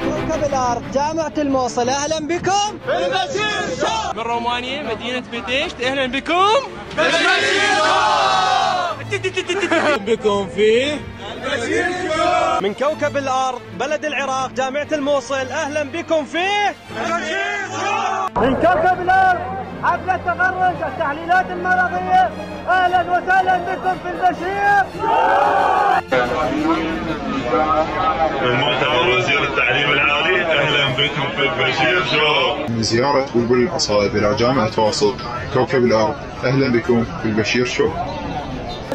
كوكب الأرض جامعة الموصل، أهلا بكم في البشير شو. من رومانيا مدينة بيتشت، أهلا بكم في البشير شو. بكم في البشير شو. من كوكب الأرض بلد العراق جامعة الموصل، أهلا بكم في البشير شو. من كوكب الأرض حفلة تخرج التحليلات المرضية، أهلا وسهلا بكم في البشير شو. المؤتمر وزير التعليم العالي، اهلا بكم في البشير شو. من زيارة بلبل الحصائب الى جامعة واصل كوكب الارض، اهلا بكم في البشير شو.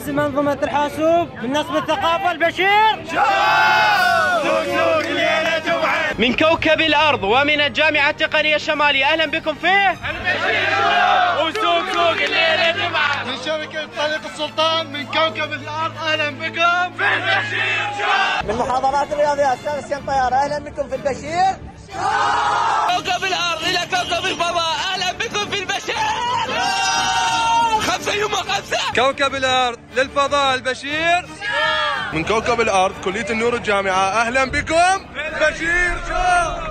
منظومة الحاسوب من نصب الثقافة البشير شو. من كوكب الأرض ومن الجامعة التقنية الشمالية، أهلا بكم في البشير شو. وسوق سوق الليلة جمعة. من شبكة طريق السلطان من كوكب الارض، اهلا بكم في البشير شو. من محاضرات الرياضيات سيارة طيارة، أهلا بكم في البشير شو. كوكب الأرض إلى كوكب الفضاء، أهلا بكم في البشير شو. 5 يوم 5. كوكب الارض للفضاء البشير. من كوكب الارض كلية النور الجامعة، اهلا بكم في البشير شو.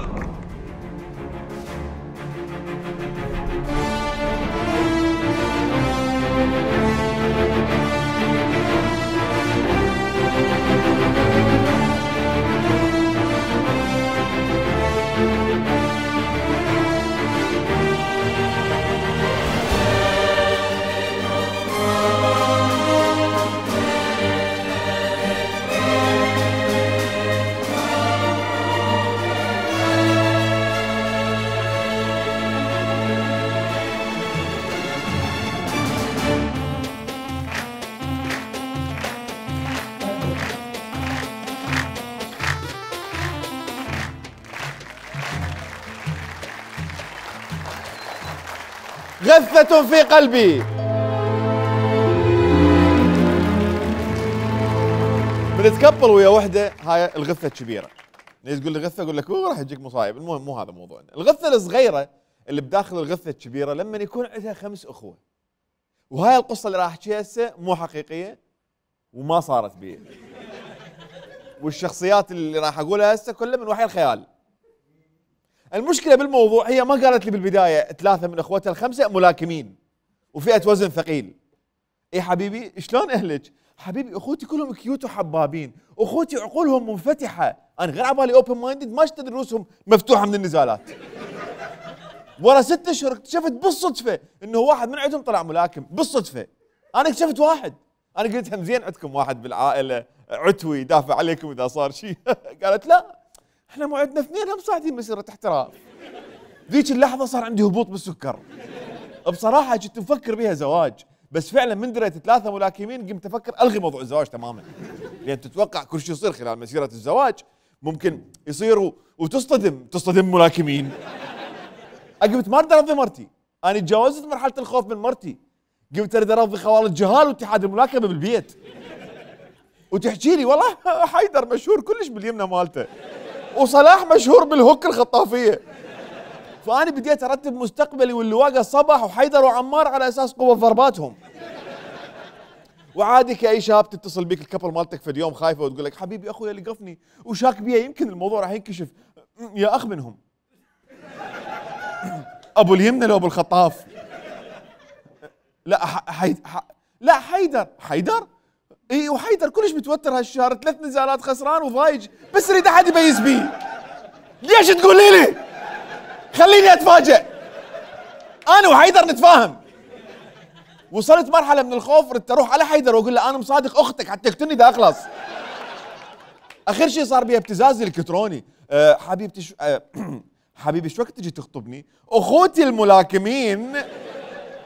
غثة في قلبي. بنتكبل ويا وحده، هاي الغثة الكبيرة. ليش تقول لي غثة؟ اقول لك راح يجيك مصايب. المهم مو هذا موضوعنا. الغثة الصغيرة اللي بداخل الغثة الكبيرة لما يكون عندها 5 اخوة. وهاي القصة اللي راح احكيها هسه مو حقيقية وما صارت بي. والشخصيات اللي راح اقولها هسه كلها من وحي الخيال. المشكلة بالموضوع هي ما قالت لي بالبداية 3 من اخوتها ال5 ملاكمين وفئة وزن ثقيل. اي حبيبي شلون اهلك؟ حبيبي اخوتي كلهم كيوت وحبابين، اخوتي عقولهم منفتحة، انا غير عبالي اوبن مايندد ما اشتري رؤوسهم مفتوحة من النزالات. ورا 6 اشهر اكتشفت بالصدفة انه واحد من عندهم طلع ملاكم، بالصدفة. انا اكتشفت واحد، انا قلت هم زين عندكم واحد بالعائلة عتوي يدافع عليكم اذا صار شيء. قالت لا احنا مو عندنا 2 هم صاعدين مسيرة احتراف. ذيك اللحظة صار عندي هبوط بالسكر. بصراحة كنت مفكر بها زواج، بس فعلا من دريت 3 ملاكمين قمت افكر الغي موضوع الزواج تماما. لان تتوقع كل شيء يصير خلال مسيرة الزواج ممكن يصير تصطدم ملاكمين. قمت ما اقدر ارضي مرتي، انا تجاوزت مرحلة الخوف من مرتي. قمت اريد ارضي خوالة جهال واتحاد الملاكمة بالبيت. وتحكي لي والله حيدر مشهور كلش باليمنى مالته، وصلاح مشهور بالهوك الخطافية. فأنا بديت أرتب مستقبلي واللواقة صباح وحيدر وعمار على أساس قوة ضرباتهم. وعادي كأي شاب تتصل بيك الكبل مالتك في اليوم خايفة وتقول لك حبيبي أخويا لقفني وشاك بيا يمكن الموضوع راح ينكشف. يا أخ منهم أبو اليمنى لو أبو الخطاف. لا لا حيدر اي، وحيدر كلش متوتر هالشهر، 3 نزالات خسران وضايج، بس اريد احد يميز بيه. ليش تقولي لي؟ خليني اتفاجئ. انا وحيدر نتفاهم. وصلت مرحله من الخوف ردت اروح على حيدر واقول له انا مصادق اختك حتى تقتلني اذا اخلص. اخر شيء صار بي ابتزاز الكتروني. حبيبتي حبيبي شو وقت تجي تخطبني؟ اخوتي الملاكمين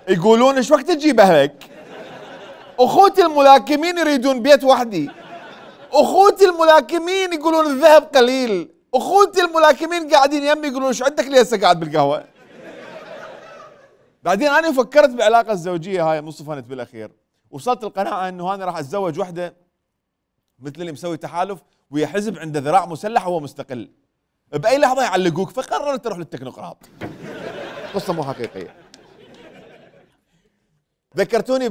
يقولون شو وقت تجيب اهلك؟ اخوتي الملاكمين يريدون بيت وحدي. اخوتي الملاكمين يقولون الذهب قليل. اخوتي الملاكمين قاعدين يمي يقولون شو عندك ليه هسه قاعد بالقهوه؟ بعدين انا فكرت بالعلاقه الزوجيه هاي صفنت بالاخير، وصلت القناعه انه انا راح اتزوج وحده مثل اللي مسوي تحالف ويا حزب عنده ذراع مسلح وهو مستقل. باي لحظه يعلقوك، فقررت اروح للتكنوقراط. قصه مو حقيقيه. ذكرتوني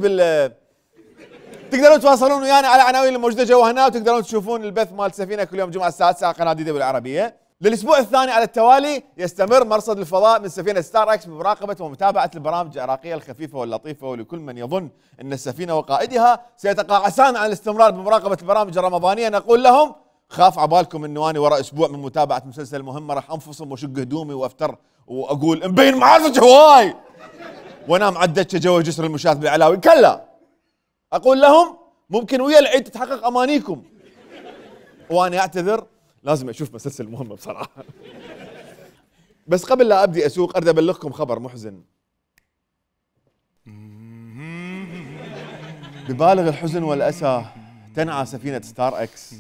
تقدرون تواصلون ويانا على عناوين الموجوده جوا هنا، وتقدرون تشوفون البث مال السفينه كل يوم جمعه الساعه 9 على قناه ديدبليو العربيه. للاسبوع الثاني على التوالي يستمر مرصد الفضاء من سفينه ستار اكس بمراقبه ومتابعه البرامج العراقيه الخفيفه واللطيفه، ولكل من يظن ان السفينه وقائدها سيتقاعسان عن الاستمرار بمراقبه البرامج الرمضانيه نقول لهم خاف عبالكم انه اني وراء اسبوع من متابعه مسلسل مهمه راح انفصم واشق هدومي وافتر واقول مبين معازج هواي وانام على الدكه جوا جسر المشاة بالعلاوي. كلا، اقول لهم ممكن ويا العيد تتحقق امانيكم، وانا اعتذر لازم اشوف مسلسل مهمه بصراحه. بس قبل لا ابدي اسوق اريد ابلغكم خبر محزن. ببالغ الحزن والاسى تنعى سفينه ستار اكس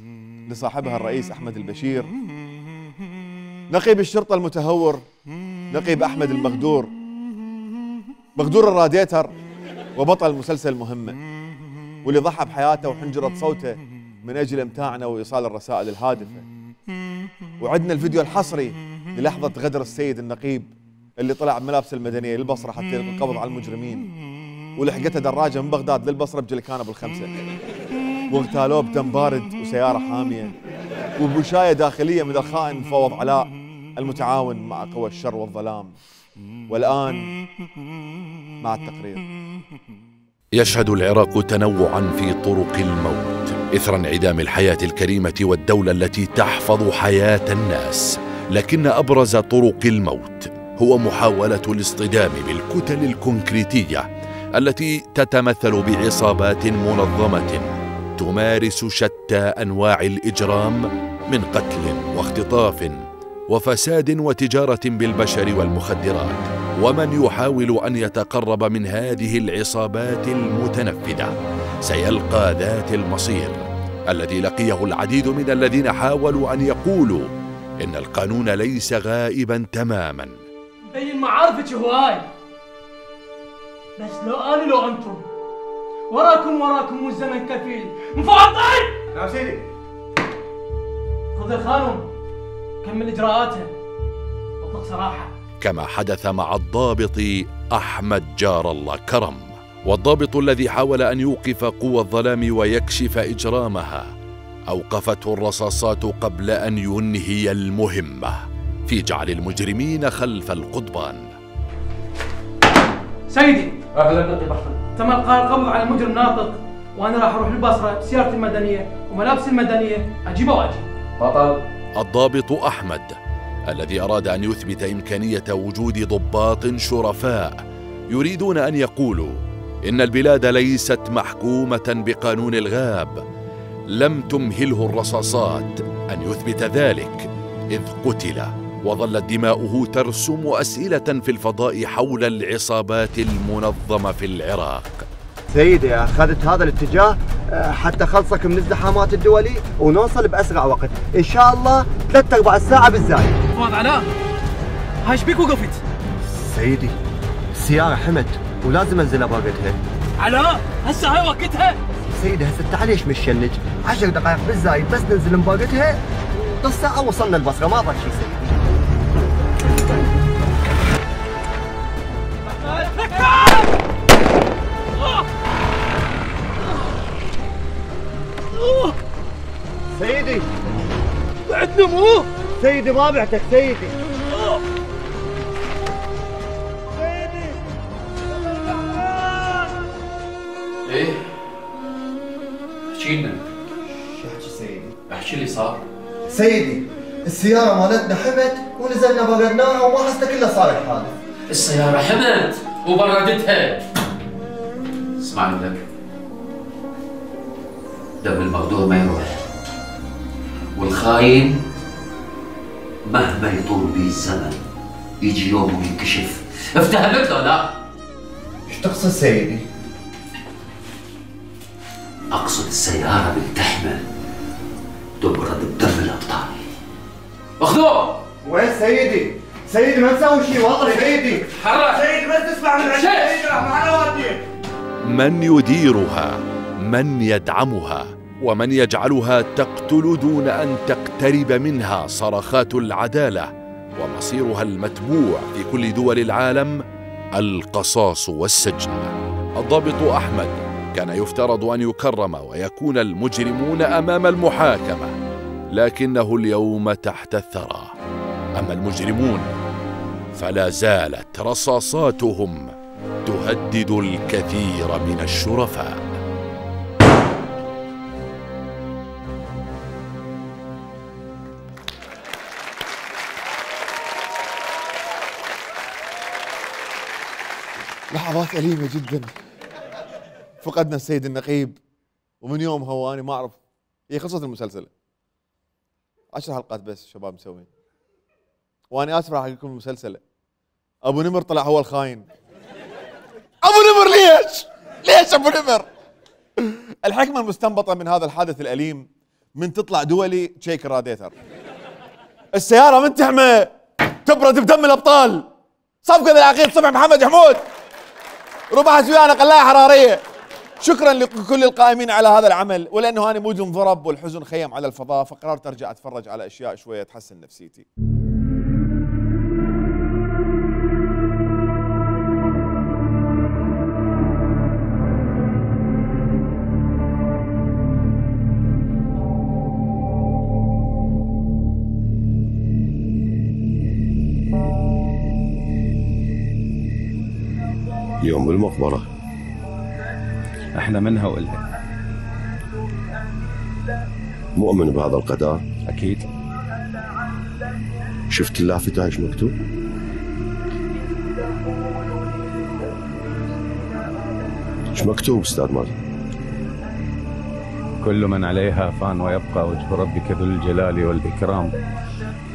لصاحبها الرئيس احمد البشير، نقيب الشرطه المتهور، نقيب احمد المغدور، مغدور الراديتر وبطل مسلسل مهمه، واللي ضحى بحياته وحنجرة صوته من اجل امتاعنا وايصال الرسائل الهادفه. وعدنا الفيديو الحصري للحظه غدر السيد النقيب اللي طلع بملابس المدنيه للبصره حتى يلقي القبض على المجرمين، ولحقته دراجه من بغداد للبصره بجلكانه بالخمسه، واغتالوه بدم بارد وسياره حاميه وبوشايه داخليه من الخائن مفوض علاء المتعاون مع قوى الشر والظلام. والان مع التقرير. يشهد العراق تنوعا في طرق الموت إثر انعدام الحياة الكريمة والدولة التي تحفظ حياة الناس، لكن أبرز طرق الموت هو محاولة الاصطدام بالكتل الكونكريتية التي تتمثل بعصابات منظمة تمارس شتى أنواع الإجرام من قتل واختطاف وفساد وتجارة بالبشر والمخدرات. ومن يحاول أن يتقرب من هذه العصابات المتنفذة سيلقى ذات المصير الذي لقيه العديد من الذين حاولوا أن يقولوا إن القانون ليس غائبا تماما. مبين معارفك هواي، بس لو أنا لو أنتم وراكم والزمن كفيل مفاضل. نعم سيدي. خذ الخانم كمل إجراءاتها واطلق سراحة. كما حدث مع الضابط أحمد جار الله كرم، والضابط الذي حاول أن يوقف قوى الظلام ويكشف إجرامها أوقفته الرصاصات قبل أن ينهي المهمة في جعل المجرمين خلف القضبان. سيدي. أهلا نقيب أحمد. تم إلقاء القبض على مجرم ناطق، وأنا راح أروح البصرة بسيارتي المدنية وملابسي المدنية أجيبه وأجي. بطل. الضابط أحمد الذي أراد أن يثبت إمكانية وجود ضباط شرفاء يريدون أن يقولوا إن البلاد ليست محكومة بقانون الغاب، لم تمهله الرصاصات أن يثبت ذلك، إذ قتل وظلت دماؤه ترسم أسئلة في الفضاء حول العصابات المنظمة في العراق. سيدي أخذت هذا الاتجاه حتى خلصك من الزحامات الدولي ونوصل بأسرع وقت إن شاء الله 3/4 ساعة بالزايد. فؤاد علاء، هاي ايش بيك وقفت؟ سيدي السيارة حمت ولازم انزل باقتها. علاء هسه هاي وقتها؟ سيدي هسه تعال ليش مشنج 10 دقائق بالزايد بس ننزل باقتها، نص ساعة وصلنا البصرة ما ضل شيء سيدي. سيدي بعد نمو سيدي ما بعتك سيدي. سيدي. ايه احكي لنا. شو احكي سيدي؟ احكي اللي صار. سيدي السيارة مالتنا حمت ونزلنا بردناها وما حسنا كلها صار الحادث. السيارة حمت وبردتها. اسمع لك، دم المغدور ما يروح، والخاين مهما يطول بيه الزمن يجي يوم وينكشف. افتهمت له لا؟ ايش تقصد سيدي؟ اقصد السيارة بتحمل تبرد بدم الابطال. اخذوه. وين سيدي؟ سيدي ما نسوي شيء والله سيدي. حرك سيدي بس تسمع من عندي سيدي راح معنا وديك. من يديرها، من يدعمها، ومن يجعلها تقتل دون أن تقترب منها صرخات العدالة ومصيرها المتبوع في كل دول العالم القصاص والسجن. الضابط أحمد كان يفترض أن يكرم ويكون المجرمون أمام المحاكمة، لكنه اليوم تحت الثرى. أما المجرمون فلا زالت رصاصاتهم تهدد الكثير من الشرفاء. لحظات أليمة جدا. فقدنا السيد النقيب، ومن يومها وأنا ما أعرف، هي خلصت المسلسل 10 حلقات بس شباب مسوين، وأنا آسف راح أحكي لكم المسلسل. أبو نمر طلع هو الخاين. أبو نمر ليش أبو نمر؟ الحكمة المستنبطة من هذا الحادث الأليم من تطلع دولي تشيك راديتر، السيارة من تحمى تبرد بدم الأبطال، صفقة العقيد صبح محمد حمود، ربع سويانة قلاية حرارية. شكرا لكل القائمين على هذا العمل، ولأنه أنا مود انضرب والحزن خيم على الفضاء، فقررت أرجع أتفرج على أشياء شوية تحسن نفسيتي. يوم بالمقبرة احنا منها وإلها. مؤمن بهذا القدر؟ أكيد. شفت اللافتة ايش مكتوب؟ ايش مكتوب استاذ مازن؟ كل من عليها فان ويبقى وجه ربك ذو الجلال والإكرام.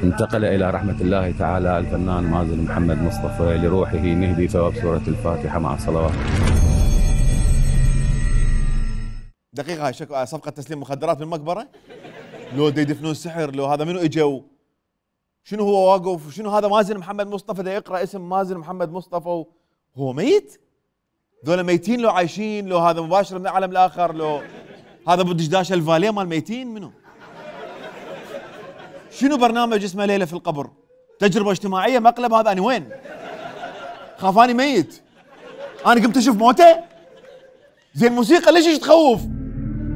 انتقل إلى رحمة الله تعالى الفنان مازن محمد مصطفى، لروحه نهدي ثواب سورة الفاتحة مع الصلوات. دقيقة، هاي صفقة تسليم مخدرات بالمقبرة؟ لو دا يدفنون سحر، لو هذا منو اجوا؟ شنو هو واقف؟ شنو هذا مازن محمد مصطفى دا يقرأ اسم مازن محمد مصطفى وهو ميت؟ ذولا ميتين لو عايشين؟ لو هذا مباشر من العالم الآخر؟ لو هذا ابو دشداش الفاليه مال ميتين منو؟ شنو برنامج اسمه ليلة في القبر؟ تجربة اجتماعية مقلب هذا؟ أنا وين؟ خافاني ميت، أنا قمت أشوف موته؟ زين موسيقى ليش تخوف؟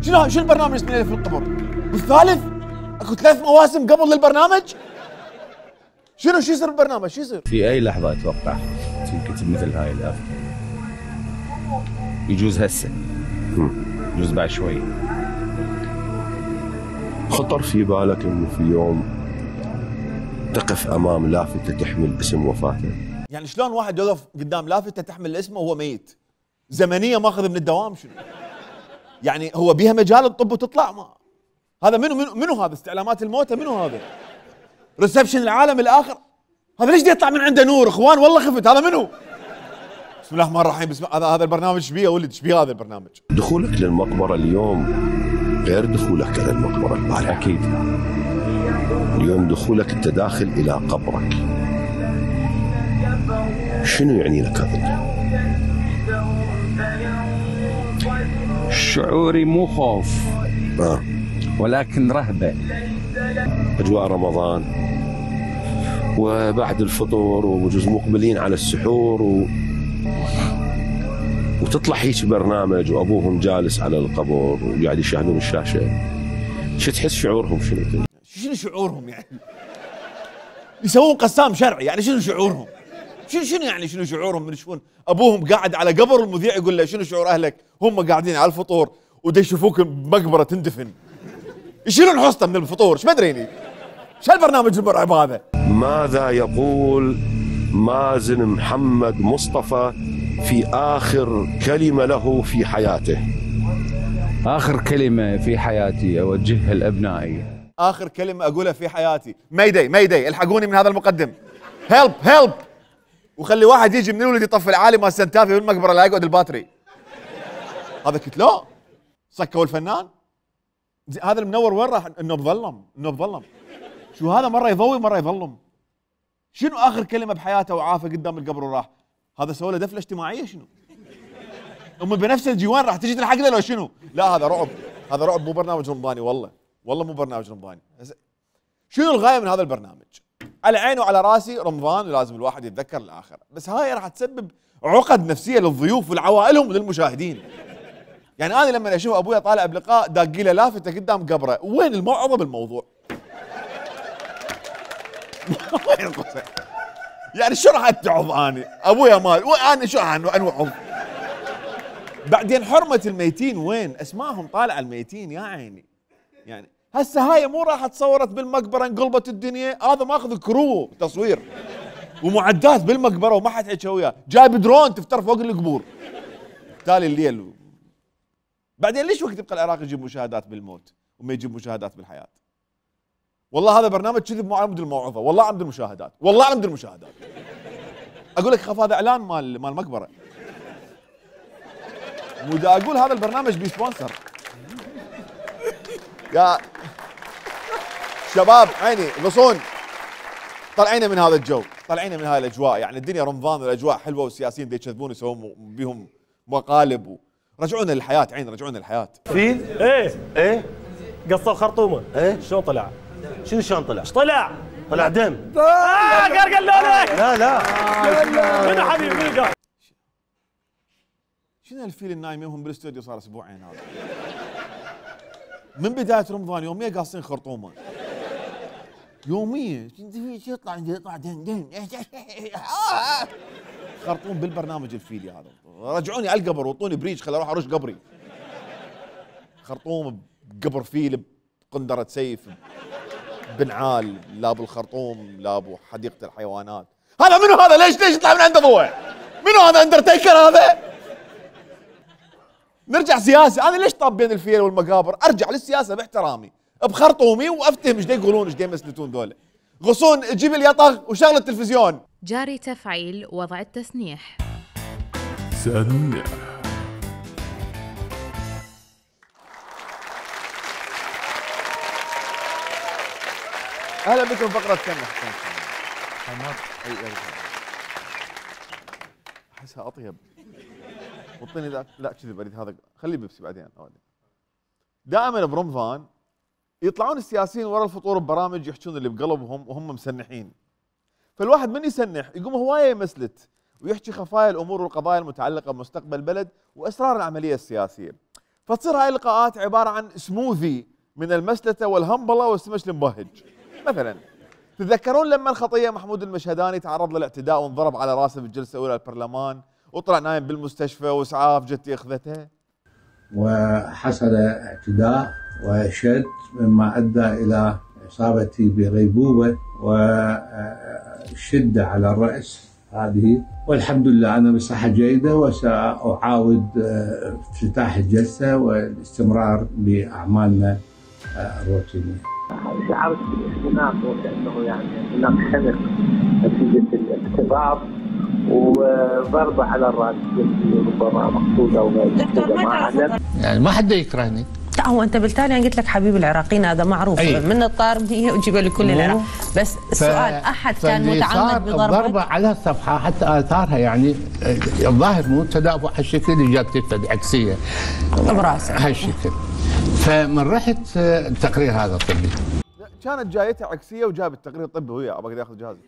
شنو البرنامج اسمه ليلة في القبر؟ بالثالث؟ اكو 3 مواسم قبل للبرنامج؟ شو يصير بالبرنامج؟ شو يصير؟ في أي لحظة أتوقع تنكتب مثل هاي الآفة. يجوز هسه، يجوز بعد شوي. خطر في بالك انه في يوم تقف امام لافتة تحمل اسم وفاته؟ يعني شلون واحد يوقف قدام لافتة تحمل اسمه وهو ميت؟ زمنية ماخذ من الدوام شنو؟ يعني هو بيها مجال الطب وتطلع؟ ما هذا منو هذا؟ استعلامات الموتى منو هذا؟ ريسبشن العالم الاخر؟ هذا ليش يطلع من عنده نور؟ اخوان والله خفت، هذا منو؟ بسم الله الرحمن الرحيم. بسم هذا البرنامج شبيه ولد؟ شبيه هذا البرنامج؟ دخولك للمقبرة اليوم غير دخولك إلى المقبرة البارحة. أكيد. اليوم دخولك أنت داخل إلى قبرك. شنو يعني لك هذا؟ شعوري مو خوف ولكن رهبة. أجواء رمضان وبعد الفطور وبجوز مقبلين على السحور وتطلع هيك برنامج وأبوهم جالس على القبر وقاعد يشاهدون الشاشة. شو تحس شعورهم؟ شنو شعورهم يعني؟ يسوون قسام شرعي يعني؟ شنو شعورهم؟ شنو يعني شنو شعورهم من يشوفون ابوهم قاعد على قبر والمذيع يقول له شنو شعور اهلك؟ هم قاعدين على الفطور ودا يشوفوك بمقبره تندفن. يشيلون حصته من الفطور، ايش مدريني؟ شو هالبرنامج المرعب هذا؟ ماذا يقول مازن محمد مصطفى في آخر كلمة له في حياته؟ آخر كلمة في حياتي أوجهها لأبنائي. آخر كلمة أقولها في حياتي ميدي الحقوني من هذا المقدم، هيلب وخلي واحد يجي من الولد يطفي العالي مال سنتافي بالمقبرة لا يقعد الباتري. هذا قلت لا سكوا الفنان. هذا المنور وين راح؟ انه بظلم. شو هذا؟ مرة يضوي مرة يظلم. شنو آخر كلمة بحياته وعافه قدام القبر وراح؟ هذا سوى له دفلة اجتماعية شنو؟ أم بنفس الجوان راح تجي تلحق له لو شنو؟ لا هذا رعب مو برنامج رمضاني والله مو برنامج رمضاني. شنو الغاية من هذا البرنامج؟ على عيني وعلى راسي رمضان ولازم الواحد يتذكر الآخرة، بس هاي راح تسبب عقد نفسية للضيوف ولعوائلهم وللمشاهدين. يعني انا لما اشوف ابويا طالع بلقاء داقي له لافته قدام قبره، وين الموعظه بالموضوع؟ يعني شو راح اتعظ اني؟ ابويا مال وانا شو انوعظ؟ بعدين حرمه الميتين وين؟ اسمائهم طالعه الميتين يا عيني. يعني هسه هاي مو راح تصورت بالمقبره انقلبت الدنيا، هذا ماخذ كرو تصوير ومعدات بالمقبره وما حد حكى وياه، جايب درون تفتر فوق القبور تالي الليل. بعدين ليش وقت يبقى العراق يجيب مشاهدات بالموت وما يجيب مشاهدات بالحياه؟ والله هذا برنامج كذب مو عمد الموعظه، والله عمد المشاهدات، والله عمد المشاهدات. اقول لك خاف هذا اعلان مال مقبره. مو دا اقول هذا البرنامج بيسبونسر. يا شباب عيني غصون، طلعينا من هذا الجو، طلعينا من هاي الاجواء، يعني الدنيا رمضان والاجواء حلوه والسياسيين دي يكذبون يسوون بيهم مقالب رجعونا للحياه عين، رجعونا للحياه. فيل؟ ايه قص الخرطومه. ايه شلون طلع؟ شنو شلون طلع؟ ايش طلع؟ طلع دم. قال لك لا من حبيبي من قال؟ شنو الفيل النايم يومهم بالاستوديو صار اسبوعين هذا؟ من بدايه رمضان يوميا قاصين خرطومه. يوميا يطلع دن خرطوم بالبرنامج الفيلي هذا. رجعوني على القبر وطوني بريج خلي اروح ارش قبري. خرطوم بقبر فيل بقندره سيف بنعال، لا بالخرطوم لا بحديقه الحيوانات. هذا منو هذا؟ ليش يطلع من عنده ضوء؟ منو هذا؟ اندرتيكر هذا؟ نرجع سياسي، انا ليش طاب بين الفيل والمقابر؟ ارجع للسياسه باحترامي بخرطومي وافتهم ايش يقولون ايش يمسلتون ذولا. غصون جيب اليطغ وشغل التلفزيون. جاري تفعيل وضع التسنيح. سنح. اهلا بكم فقره سنح. احسها اطيب. وطني ذاك لا كذب اريد هذا، خليه بيبسي بعدين. دائما برمضان يطلعون السياسيين ورا الفطور ببرامج يحكون اللي بقلبهم وهم مسنحين. فالواحد من يسنح يقوم هوايه يمسلت ويحكي خفايا الامور والقضايا المتعلقه بمستقبل البلد واسرار العمليه السياسيه. فتصير هاي اللقاءات عباره عن سموذي من المسلته والهمبله والسمش المبهج. مثلا تتذكرون لما الخطيه محمود المشهداني تعرض للاعتداء وانضرب على راسه في الجلسه الاولى البرلمان وطلع نايم بالمستشفى واسعاف جت اخذته؟ وحصل اعتداء وشد مما ادى الى اصابتي بغيبوبه وشده على الراس هذه، والحمد لله انا بصحه جيده وساعاود افتتاح الجلسه والاستمرار باعمالنا الروتينيه. شعرت بالاختناق وكانه يعني هناك خنق نتيجه الاختبار وضربه على الراس ربما مقصوده او غير مقصوده. يعني ما حدا يكرهني. لا هو انت بالتالي قلت لك حبيب العراقيين هذا معروف من الطار هي وجيبه لكل العراق، بس السؤال احد كان متعمد بضربه على الصفحه حتى اثارها يعني الظاهر مو تدافع هالشكل اجابتي عكسيه براسه هالشكل. فمن رحت التقرير هذا الطبي كانت جايتها عكسيه وجاب التقرير الطبي وهي ابغى ياخذ جهازه،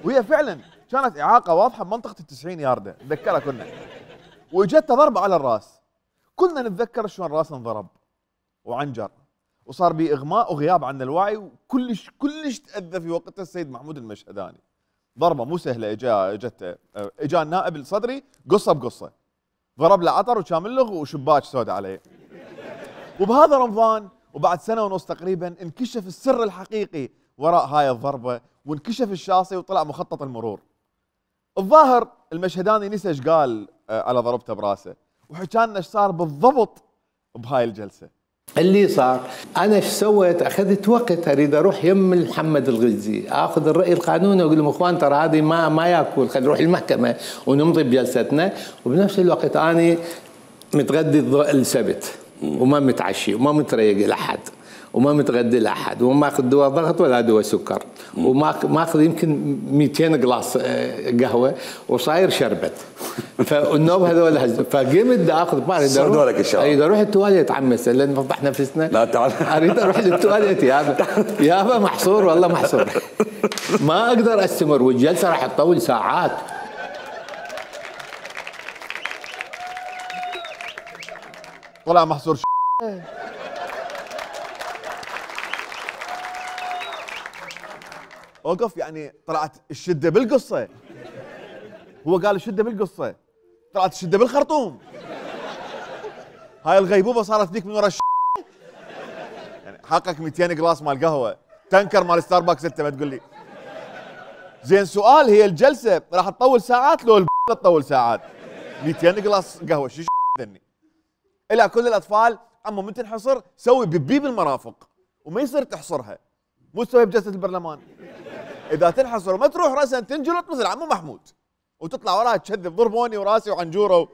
وهي فعلا كانت اعاقه واضحه بمنطقه ال90 يارده نتذكرها كنا، واجتها ضربه على الراس. كنا نتذكر شلون راسه انضرب وعنجر وصار به اغماء وغياب عن الوعي وكلش تاذى في وقتها السيد محمود المشهداني. ضربه مو سهله اجا النائب الصدري قصه بقصه، ضرب له عطر وشاملغ وشباك سوداء عليه. وبهذا رمضان وبعد سنه ونص تقريبا انكشف السر الحقيقي وراء هاي الضربه وانكشف الشاصي وطلع مخطط المرور. الظاهر المشهداني نسى ايش قال على ضربته براسه وحكى لنا ايش صار بالضبط بهاي الجلسه. اللي صار انا ايش سويت؟ اخذت وقت اريد اروح يم محمد الغزي اخذ الراي القانوني واقول لهم اخوان ترى هذه ما ياكل، خلينا نروح المحكمه ونمضي بجلستنا، وبنفس الوقت اني متغدي السبت وما متعشي وما متريق لاحد وما متغدي لاحد وما اخذ دواء ضغط ولا دواء سكر وما اخذ يمكن 200 قلاص قهوه وصاير شربت. فالنوب هذول فقمت دا اخذ بالي صدوا لك الشباب اريد اروح التواليت عمس لان نفضح نفسنا. لا تعال اريد اروح للتواليت يابا محصور والله محصور ما اقدر استمر والجلسه راح تطول ساعات. طلع محصور اوقف، يعني طلعت الشده بالقصه. هو قال الشده بالقصه، طلعت الشده بالخرطوم. هاي الغيبوبه صارت ذيك من ورا يعني حقك 200 جلاس مال قهوه، تنكر مال ستاربكس انت ما تقول لي. زين سؤال، هي الجلسه راح تطول ساعات لو تطول ساعات؟ 200 جلاس قهوه شو ذني؟ الى كل الاطفال عمو من تنحصر سوي بيبي بالمرافق، وما يصير تحصرها، مو تسويها بجلسه البرلمان. اذا تنحصر وما تروح راسا تنجلط مثل عمو محمود، وتطلع وراها تشذب ضربوني وراسي وعنجوره،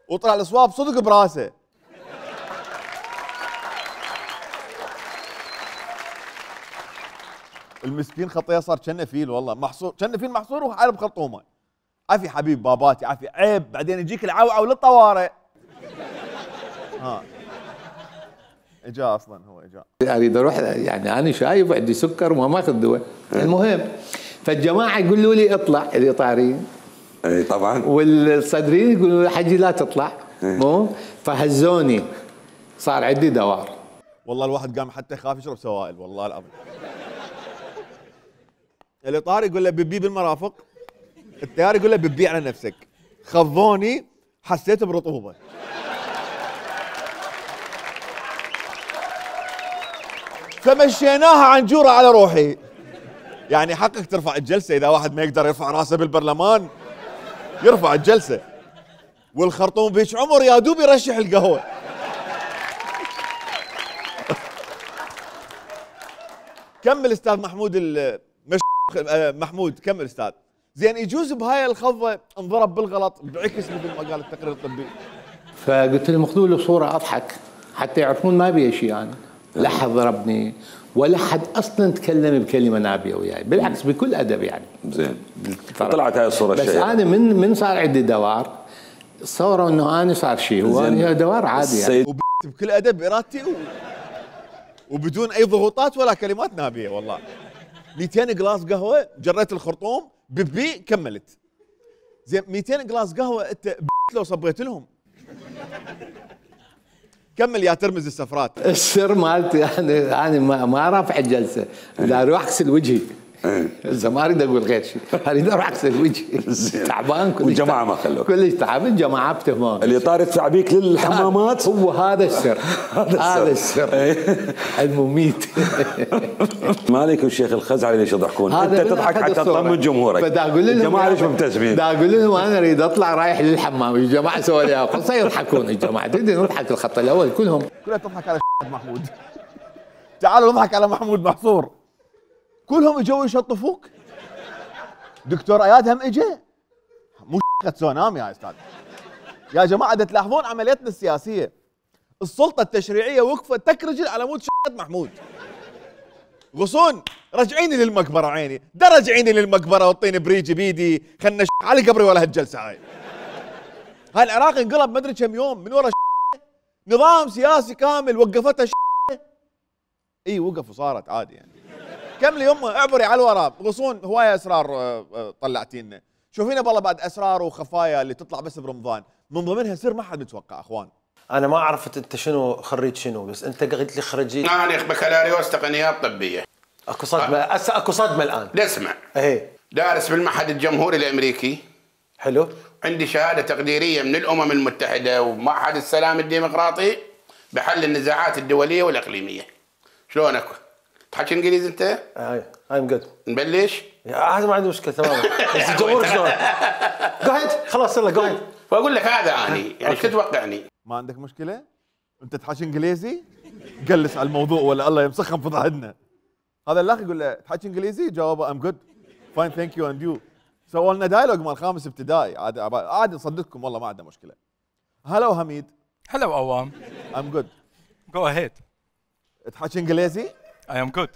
وطلع الصواب صدق براسه. المسكين خطيه صار كأنه فيل، والله محصور، كأنه فيل محصور وحالب خرطومه. عافي حبيب باباتي، عافي، عيب بعدين يجيك العوعو للطوارئ. ها اجا اصلا، هو اجا اريد اروح، يعني انا شايب وعندي سكر وما ماخذ دواء. المهم فالجماعه يقولوا لي اطلع الاطاريين، اي طبعا، والصدريين يقولوا لي حجي لا تطلع، مو فهزوني، صار عندي دوار. والله الواحد قام حتى يخاف يشرب سوائل، والله العظيم. الاطار يقول له ببي بالمرافق، التيار يقول له ببي على نفسك. خضوني، حسيت برطوبه. فمشيناها عنجوره على روحي. يعني حقك ترفع الجلسه، اذا واحد ما يقدر يرفع راسه بالبرلمان يرفع الجلسه. والخرطوم بيش عمر يا دوب يرشح القهوه. كمل استاذ محمود محمود كمل استاذ. زين يجوز بهاي الخضه انضرب بالغلط بعكس مثل ما قال التقرير الطبي. فقلت لهم خذوا له صوره اضحك حتى يعرفون ما بي شيء انا. لا حد ضربني ولا حد اصلا تكلم بكلمه نابيه وياي، بالعكس بكل ادب يعني. زين طلعت هاي الصوره بس انا من صار عندي دوار صوروا انه انا صار شيء، هو أنا دوار عادي يعني. بكل ادب بارادتي وبدون اي ضغوطات ولا كلمات نابيه والله. 200 جلاس قهوه، جريت الخرطوم ببي كملت. زين 200 جلاس قهوه انت لو صبيت لهم. كمل يا ترمز السفرات. السر مالتي انا ما رافع الجلسه، لا اروح اغسل وجهي. اذا ما اريد اقول غير شيء، اريد اروح اغسل وجهي. تعبان كلش، والجماعه ما خلوك كلش تعب، الجماعه بتهمون. اللي طار يدفع بيك للحمامات هو هذا السر. هذا السر المميت. مالك والشيخ الخزعلي ليش يضحكون؟ انت تضحك حتى تطمن جمهورك. الجماعه ليش مبتسمين؟ دا اقول لهم انا اريد اطلع رايح للحمام، الجماعه سووا لي قصه يضحكون الجماعه، تدري نضحك الخط الاول كلها تضحك على محمود. تعالوا نضحك على محمود محصور. كلهم اجوا يشطفوك. دكتور اياد هم اجى. مو تسونامي يا استاذ. يا جماعه دا تلاحظون عمليتنا السياسيه. السلطه التشريعيه وقفت تكرجل على مود محمود. غصون رجعيني للمقبره عيني، دا رجعيني للمقبره وطيني بريجي بيدي، خلنا على قبري ولا هالجلسه هاي. هاي العراق انقلب ما ادري كم يوم من ورا نظام سياسي كامل وقفتها اي وقف وصارت عادي يعني. كملي يمه اعبري على الورا. غصون هوايه اسرار طلعتينا، شوفينا بالله بعد اسرار وخفايا اللي تطلع بس برمضان، من ضمنها سر ما حد متوقع اخوان. انا ما عرفت انت شنو خريج شنو، بس انت قلت لي خريج انا بكالوريوس تقنيات طبيه. اكو صدمه هسه، اكو صدمه الان. اسمع، ايه دارس بالمعهد الجمهوري الامريكي. حلو. عندي شهاده تقديريه من الامم المتحده ومعهد السلام الديمقراطي بحل النزاعات الدوليه والاقليميه. شلونك؟ تحكي انجليزي انت؟ اي ام جود. نبلش؟ هذا ما عندي مشكله تماما. بس الجمهور شلون؟ قاعد خلاص يلا قاعد. واقول لك هذا اني يعني شو تتوقعني؟ ما عندك مشكله؟ انت تحكي انجليزي؟ قلس على الموضوع ولا الله يمسخهم في ظهرنا. هذا الاخ يقول له تحكي انجليزي؟ جاوبه ام جود فاين ثانك يو اند يو. سووا لنا دايلوج مال خامس ابتدائي، عادي نصدقكم والله ما عندنا مشكله. هلو حميد. هلو عوام. ام جود. جو اهيد. تحكي انجليزي؟ اي ام جود.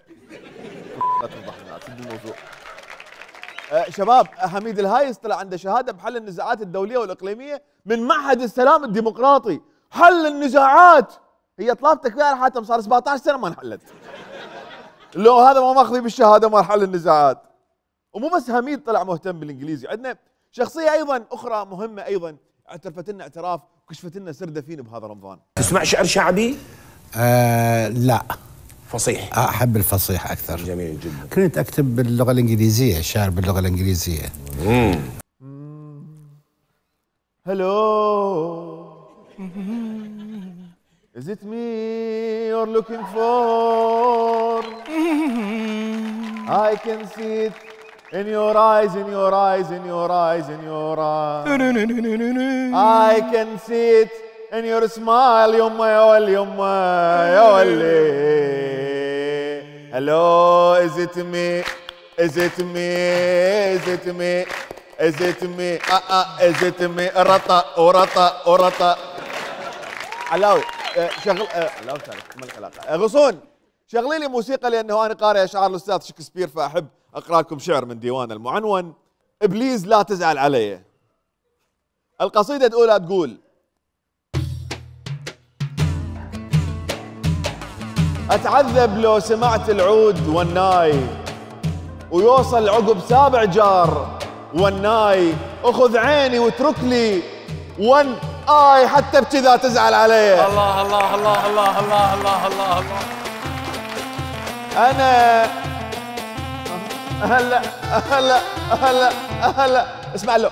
لا تفضحنا تسد الموضوع. شباب حميد الهايس طلع عنده شهاده بحل النزاعات الدوليه والاقليميه من معهد السلام الديمقراطي. حل النزاعات هي طلبتك فيها حاتم صار 17 سنه ما انحلت. لو هذا ما ماخذي بالشهاده مال حل النزاعات. ومو بس حميد طلع مهتم بالانجليزي، عندنا شخصيه ايضا اخرى مهمه ايضا اعترفت لنا اعتراف وكشفت لنا سر دفين بهذا رمضان. تسمع شعر شعبي؟ لا، فصيح. احب الفصيح اكثر. جميل جدا. كنت اكتب باللغه الانجليزيه، شعر باللغه الانجليزيه. Hello. Is it me you're looking for? I can see it in your eyes, in your eyes, in your eyes, in your eyes. I can see it in your smile, يما يا ولي يما يا ولي. Hello, is it me? Is it me? Is it me? Is it me? Is it me? رطا ورطا ورطا. علاوي شغل علاوي ما العلاقة. غصون شغلي لي موسيقى لأنه أنا قارئ أشعار الأستاذ شكسبير فأحب أقرأ لكم شعر من ديوان المعنون. إبليس لا تزعل علي. القصيدة الأولى تقول: أتعذب لو سمعت العود والناي ويوصل عقب سابع جار والناي، أخذ عيني واترك لي ون آي حتى بكذا تزعل علي. الله الله الله الله الله الله الله الله. أنا هلا هلا هلا هلا اسمع له.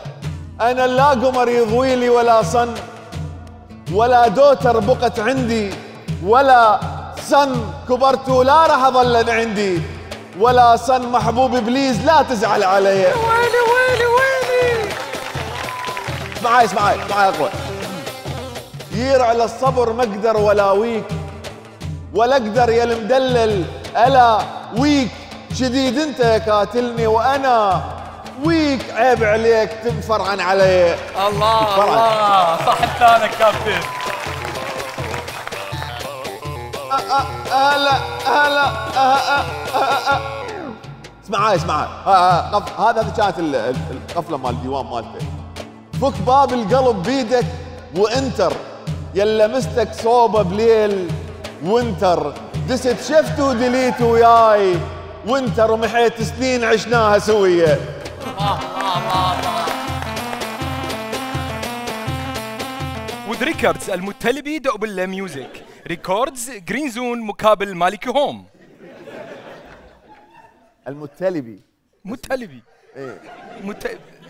أنا لا قمر يضوي لي ولا صن ولا دوتر بقت عندي ولا صن كبرت ولا راح أظل عندي ولا صن محبوب إبليس لا تزعل علي. ويلي ويلي ويلي. اسمعي اسمعي اسمعي يا أخوي. يرعى للصبر ما اقدر ولا ويك ولا اقدر يا المدلل الا ويك شديد انت كاتلني وانا ويك عيب عليك تنفرعن علي. الله الله صح لسانك كابتن. هلا هلا اسمعي اسمعي هذا كانت القفله مال الديوان مالته. فك باب القلب بيدك وانتر يلا مستك صوبه بليل وانتر دست شفت ودليت وياي وانتر ومحيت سنين عشناها سويه. وذ ريكوردز المتلبي دوبل ميوزك ريكوردز جرين زون مقابل مالكي هوم. المتلبي متلبي ايه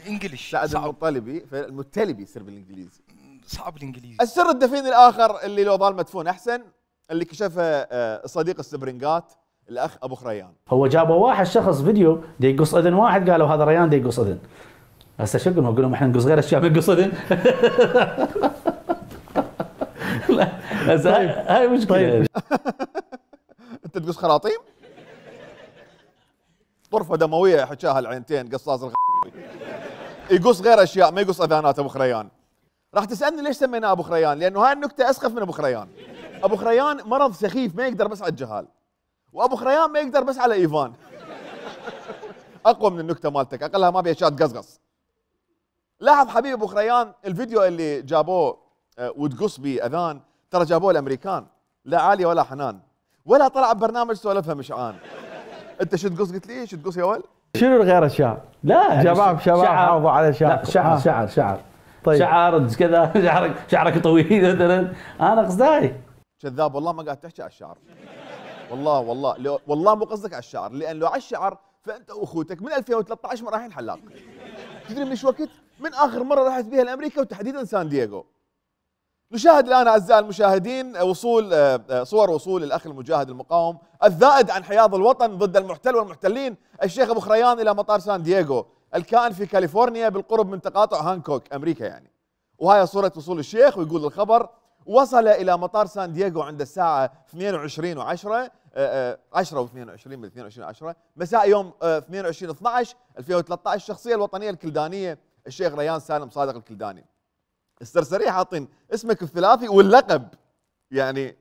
انجلش لا المطلبي المتلبي يصير بالانجليزي صعب الانجليزي. السر الدفين الاخر اللي لو ظل مدفون احسن اللي كشفه صديق السبرنجات الاخ ابو خريان. هو جابوا واحد شخص فيديو دي يقص اذن واحد قالوا هذا ريان دي يقص اذن. هسه شو قلنا؟ قلنا احنا نقص غير اشياء ما نقص اذن. لا هسه هاي مشكله. انت تقص خراطيم؟ طرفه دمويه حكاها العينتين قصاص يقص غير اشياء ما يقص اذانات ابو خريان. راح تسالني ليش سميناه ابو خريان؟ لانه هاي النكته اسخف من ابو خريان. ابو خريان مرض سخيف ما يقدر بس على الجهال، وابو خريان ما يقدر بس على ايفان. اقوى من النكته مالتك، اقلها ما بيها اشياء تقصقص. لاحظ حبيبي ابو خريان الفيديو اللي جابوه وتقص بيه اذان ترى جابوه الامريكان، لا عاليه ولا حنان ولا طلع ببرنامج سولفها مشعان. انت شو تقص؟ قلت لي شو تقص يا ول؟ شنو غير اشياء؟ لا شباب حافظوا على شعر. لا شعر شعر شعر طيب شعر كذا شعرك طويل مثلا. انا قصداي كذاب والله ما قاعد تحكي على الشعر. والله والله مو قصدك على الشعر، لان لو على الشعر فانت واخوتك من 2013 رايحين حلاق. تدري من ايش وقت؟ من اخر مره رحت بها لامريكا وتحديدا سان دييغو. نشاهد الان اعزائي المشاهدين صور وصول الاخ المجاهد المقاوم الذائد عن حياض الوطن ضد المحتل والمحتلين الشيخ ابو خريان الى مطار سان دييغو الكائن في كاليفورنيا بالقرب من تقاطع هانكوك امريكا يعني. وهاي صوره وصول الشيخ ويقول الخبر: وصل الى مطار سان دييغو عند الساعه 22:10 10 و22 من 22:10 مساء يوم 22/12/2013 الشخصيه الوطنيه الكلدانيه الشيخ ريان سالم صادق الكلداني. السرسريه حاطين اسمك الثلاثي واللقب يعني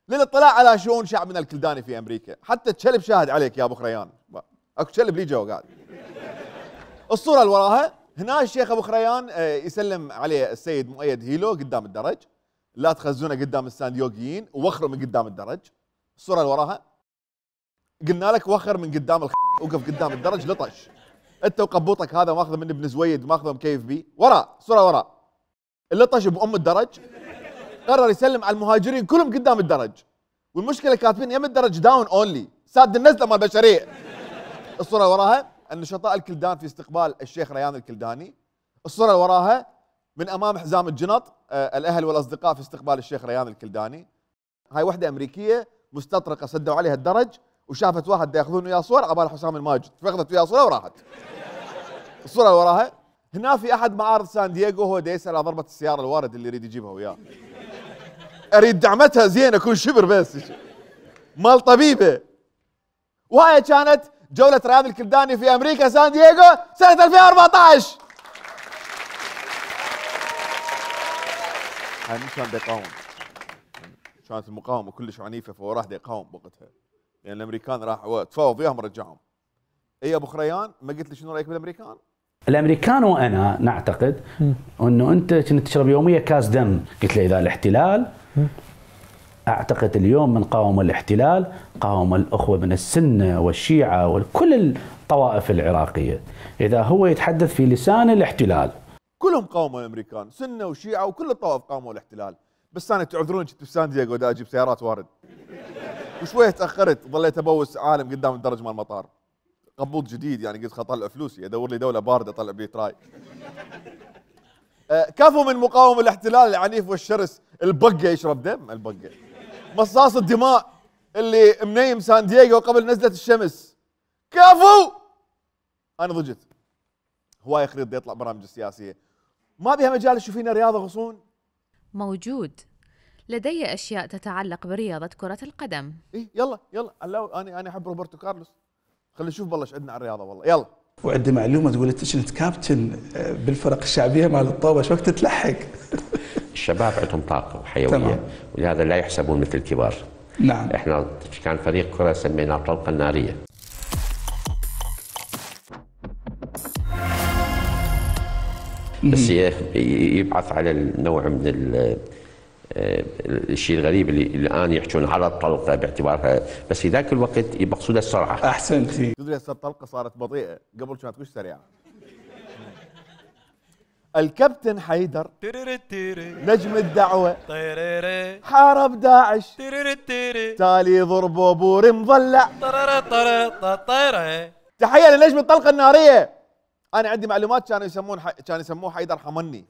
للاطلاع على شؤون شعبنا الكلداني في امريكا. حتى الكلب شاهد عليك يا ابو خريان، اكو كلب لي جوا قاعد. الصوره اللي وراها هنا الشيخ ابو خريان يسلم عليه السيد مؤيد هيلو قدام الدرج. لا تخزونه قدام السانديوغيين ووخروا من قدام الدرج. الصوره اللي وراها قلنا لك وخر من قدام وقف قدام الدرج لطش. انت وقبوطك هذا ماخذه من ابن زويد ماخذه مكيف بيه. وراء الصوره وراء اللي طش بأم الدرج قرر يسلم على المهاجرين كلهم قدام الدرج، والمشكله كاتبين يم الدرج داون اونلي، ساد النزله مال البشريه. الصوره اللي وراها النشطاء الكلدان في استقبال الشيخ ريان الكلداني. الصوره اللي وراها من امام حزام الجنط الاهل والاصدقاء في استقبال الشيخ ريان الكلداني. هاي وحده امريكيه مستطرقه سدوا عليها الدرج وشافت واحد ياخذون وياه صور عبال حسام الماجد، فاخذت وياه صوره وراحت. الصوره اللي وراها هنا في احد معارض سان دييغو هو يسال على ضربه السياره الوارد اللي يريد يجيبها وياه. اريد دعمتها زين اكون شبر بس مال طبيبه. وهاي كانت جوله رياض الكلداني في امريكا سان دييغو سنه 2014. هاي مش كان يقاوم، كانت المقاومه كلش عنيفه فهو راح يقاوم بوقتها، لان يعني الامريكان راح تفاوض وياهم رجعهم. اي ابو خريان ما قلت لي شنو رايك بالامريكان؟ الامريكان وانا نعتقد انه انت كنت تشرب يوميا كاس دم، قلت له اذا الاحتلال اعتقد اليوم من قاوم الاحتلال قاوم الاخوه من السنه والشيعه وكل الطوائف العراقيه، اذا هو يتحدث في لسان الاحتلال. كلهم قاوموا الامريكان، سنه وشيعه وكل الطوائف قاوموا الاحتلال، بس انا تعذرون كنت بسان دييغو دا اجيب سيارات وارد. وشويه تاخرت ظليت ابوس عالم قدام الدرج مال المطار. قبوط جديد يعني قلت اطلع فلوسي ادور لي دوله بارده اطلع بيه تراي. كفوا من مقاوم الاحتلال العنيف والشرس، البقه يشرب دم، البقه مصاص الدماء اللي منيم سان دييغو قبل نزله الشمس. كفوا. انا ضجت. هواي خريط يطلع برامج السياسيه، ما بيها مجال تشوفين رياضه غصون؟ موجود. لدي اشياء تتعلق برياضه كره القدم. ايه يلا انا احب روبرتو كارلوس. خلينا نشوف والله ايش عندنا على الرياضه والله. يلا. وعندي معلومه تقول انت كنت كابتن بالفرق الشعبيه مال الطوبه، شو وقت تلحق؟ الشباب عندهم طاقه وحيويه تمام. ولهذا لا يحسبون مثل الكبار. نعم. احنا كان فريق كره سميناه الطلقه الناريه. بس يبعث على النوع من الشيء الغريب اللي الان يحكون على الطلقه باعتبارها، بس في ذاك الوقت يقصدها السرعه. احسنتي. تدري هسه الطلقه صارت بطيئه، قبل كانت مش سريعه. الكابتن حيدر نجم الدعوه حارب داعش، تالي ضربوا بوري مضلع. تحيه لنجم الطلقه الناريه. انا عندي معلومات كانوا يسموه حيدر حمني،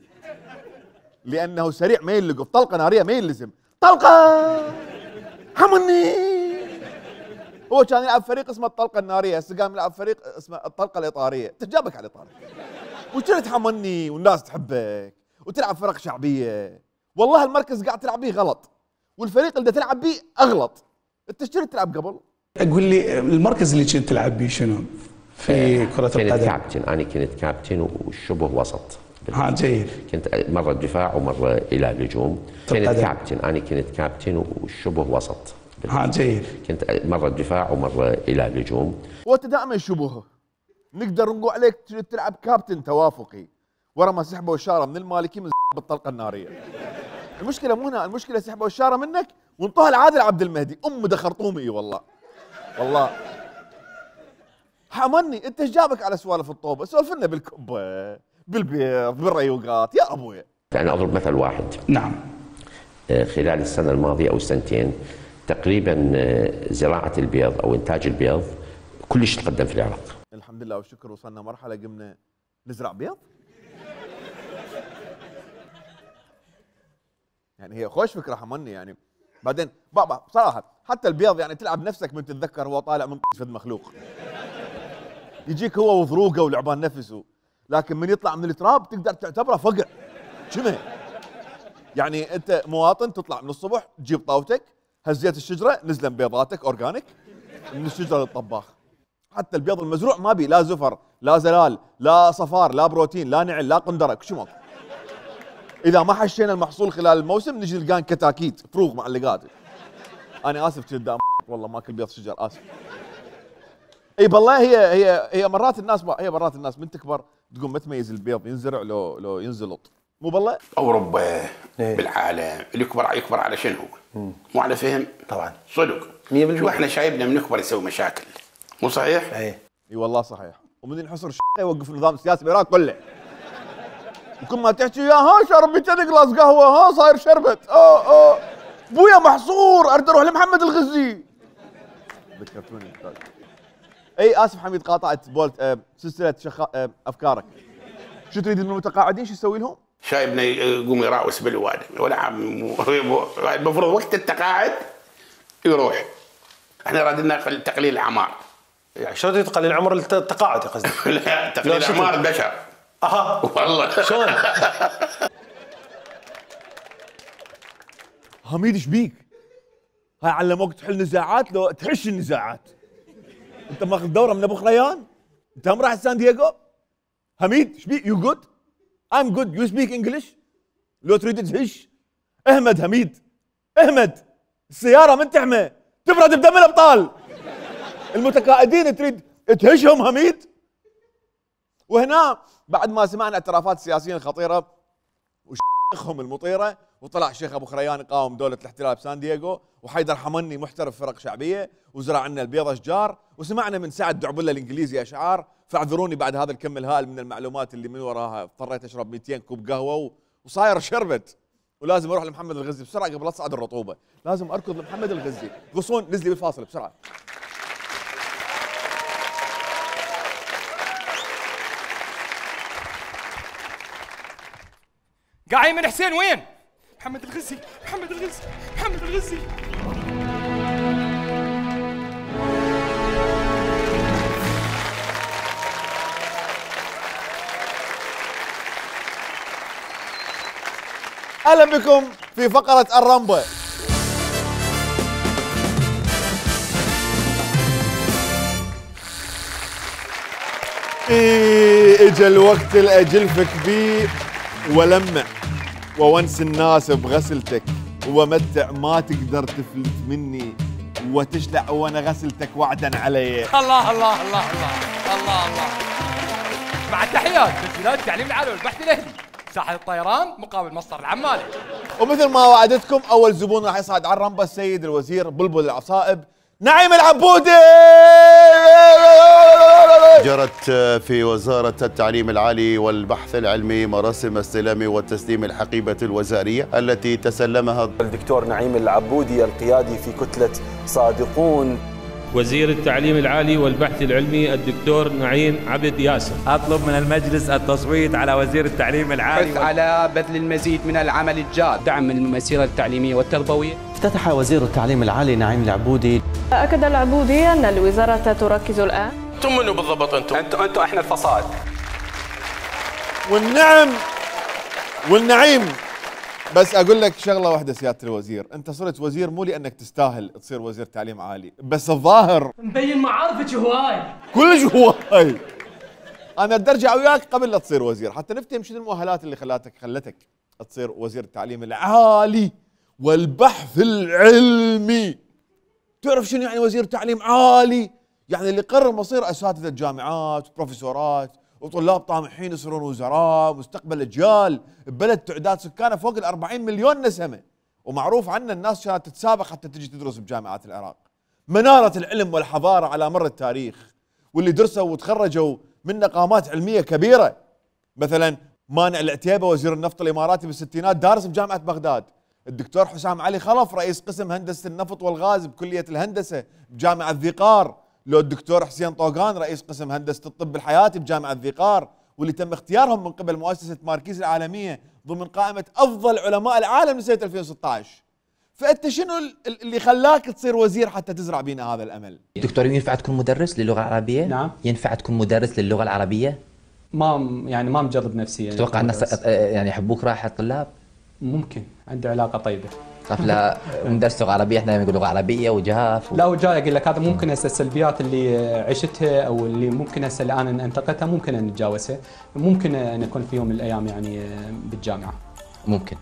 لانه سريع ما يلقف، طلقه ناريه ما يلزم، طلقه حمني. هو كان يلعب فريق اسمه الطلقه الناريه، هسه قام يلعب فريق اسمه الطلقه الاطاريه. تجابك على الاطار وكنت حمني والناس تحبك وتلعب فرق شعبيه. والله المركز قاعد تلعب به غلط، والفريق اللي تلعب به اغلط. انت ايش كنت تلعب قبل؟ اقول لي المركز اللي كنت تلعب به شنو؟ في كرة القدم. كنت كابتن، انا كنت كابتن وشبه وسط. جيد. كنت مرة دفاع ومرة إلى الهجوم. كنت كابتن، أنا كنت كابتن وشبه وسط. جيد. كنت مرة دفاع ومرة إلى الهجوم. وأنت دائما شبهه، نقدر نقول عليك تلعب كابتن توافقي، ورا ما سحبوا الشارة من المالكي من بالطلقة النارية. المشكلة مو هنا، المشكلة سحبوا الشارة منك وانطوها لعادل عبد المهدي، ده خرطومي والله. والله حمني، انت ايش جابك على سوالف الطوبة؟ سولف لنا بالكبة، بالبيض، بالريوقات يا ابويا. أنا أضرب مثل واحد. نعم. خلال السنة الماضية أو السنتين تقريبا زراعة البيض أو إنتاج البيض كلش تقدم في العراق. الحمد لله والشكر، وصلنا مرحلة قمنا نزرع بيض. يعني هي خوش فكرة حمني يعني. بعدين بابا بصراحة حتى البيض يعني تلعب نفسك من تتذكر هو طالع من فد مخلوق. يجيك هو وضروقه ولعبان نفسه، لكن من يطلع من التراب تقدر تعتبره فقع. شنو؟ يعني انت مواطن تطلع من الصبح تجيب طاوتك، هزيت الشجره نزلن بيضاتك اورجانيك من الشجره للطباخ. حتى البيض المزروع ما بي لا زفر، لا زلال، لا صفار، لا بروتين، لا نعل، لا قندره، كل شيء ماكو. اذا ما حشينا المحصول خلال الموسم نجي نلقان كتاكيت فروغ معلقات. انا اسف قدام والله ماكل بيض شجر، اسف. اي بالله هي مرات الناس من تكبر تقوم ما تميز البيض ينزرع لو ينزلط، مو بالله؟ اوروبا بالعالم اللي يكبر على شنو؟ مو على فهم؟ طبعا صدق 100%. شو احنا شايبنا من نكبر يسوي مشاكل، مو صحيح؟ اي والله صحيح. ومن ينحصر يوقف النظام السياسي بالعراق كله. وكل ما تحكي يا ها شربي 3 جلاس قهوه ها صاير شربت بويا محصور اريد اروح لمحمد الغزي. ذكرتوني اي اسف حميد قاطعت بولت سلسله افكارك. شو تريد من المتقاعدين شو يسوي لهم؟ شايبنا يقوم يراوس بالوادم ولا عم المفروض وقت التقاعد يروح. احنا رادنا تقليل الاعمار. يعني شلون تقليل عمر التقاعد يا قصدي؟ لا تقليل اعمار البشر. والله شلون؟ حميد ايش بيك؟ هاي علموك تحل نزاعات لو تحش النزاعات. انت ماخذ دوره من ابو خريان؟ انت هم رايح سان دييغو؟ حميد ايش بيك؟ يو جود؟ I'm good. You speak English؟ لو تريد تهش اهمد حميد اهمد. السيارة من تحمى تبرد بدم الابطال. المتقاعدين تريد تهشهم حميد. وهنا بعد ما سمعنا اعترافات السياسيين الخطيرة وشيخهم المطيرة وطلع الشيخ ابو خريان يقاوم دولة الاحتلال بسان دييغو وحيدر حمني محترف فرق شعبية وزرع عنا البيض اشجار وسمعنا من سعد دعبله الانجليزي اشعار. فاعذروني بعد هذا الكم الهائل من المعلومات اللي من وراها اضطريت اشرب 200 كوب قهوه وصاير شربت ولازم اروح لمحمد الغزي بسرعه قبل لا تصعد الرطوبه. لازم اركض لمحمد الغزي. غصون نزلي بالفاصل بسرعه. قاعد من حسين وين؟ محمد الغزي محمد الغزي محمد الغزي. اهلا بكم في فقرة الرمبة. اجا الوقت اللي اجلفك بيه ولمع وونس الناس بغسلتك ومتع ما تقدر تفلت مني وتشلع وانا غسلتك وعدا علي. الله الله الله الله الله الله. مع التحيات تسجيلات التعليم العالي والبحث الاهلي ساحة الطيران مقابل مصدر العمالي. ومثل ما وعدتكم اول زبون راح يصعد على الرمبة السيد الوزير بلبل العصائب نعيم العبودي. جرت في وزارة التعليم العالي والبحث العلمي مراسم استلام والتسليم الحقيبة الوزارية التي تسلمها الدكتور نعيم العبودي القيادي في كتلة صادقون. وزير التعليم العالي والبحث العلمي الدكتور نعيم عبد ياسر. أطلب من المجلس التصويت على وزير التعليم العالي حث على بذل المزيد من العمل الجاد، دعم المسيرة التعليمية والتربوية. افتتح وزير التعليم العالي نعيم العبودي. أكد العبودي أن الوزارة تركز الآن. انتم منو بالضبط انتم احنا الفصائل. والنعيم بس اقول لك شغله واحده سياده الوزير، انت صرت وزير مو لانك تستاهل تصير وزير تعليم عالي، بس الظاهر مبين معارفك هواي كلش هواي. انا بدي ارجع وياك قبل لا تصير وزير حتى نفتهم شنو المؤهلات اللي خلتك تصير وزير التعليم العالي والبحث العلمي. تعرف شنو يعني وزير تعليم عالي؟ يعني اللي قرر مصير اساتذه جامعات وبروفيسورات وطلاب طامحين يصيرون وزراء مستقبل اجيال ببلد تعداد سكانه فوق ال40 مليون نسمه، ومعروف عنا الناس كانت تتسابق حتى تجي تدرس بجامعات العراق. مناره العلم والحضاره على مر التاريخ، واللي درسوا وتخرجوا من مقامات علميه كبيره. مثلا مانع العتيبه وزير النفط الاماراتي بالستينات دارس بجامعه بغداد. الدكتور حسام علي خلف رئيس قسم هندسه النفط والغاز بكليه الهندسه بجامعه ذيقار. لو الدكتور حسين طوغان رئيس قسم هندسه الطب الحياتي بجامعه ذيقار، واللي تم اختيارهم من قبل مؤسسه ماركيز العالميه ضمن قائمه افضل علماء العالم لسنه 2016. فانت شنو اللي خلاك تصير وزير حتى تزرع بينا هذا الامل؟ دكتور ينفع تكون مدرس للغه العربيه؟ نعم. ينفع تكون مدرس للغه العربيه؟ ما مجرب نفسي يعني. تتوقع الناس يعني يحبوك رايح الطلاب؟ ممكن عندي علاقه طيبه. طيب لا ندرس لغه عربيه احنا نقول لغه عربيه وجهاف لا وجاي اقول لك هذا ممكن هسه السلبيات اللي عشتها او اللي ممكن هسه الان انتقدتها ممكن ان نتجاوزها، ممكن ان نكون في يوم من الايام يعني بالجامعه. ممكن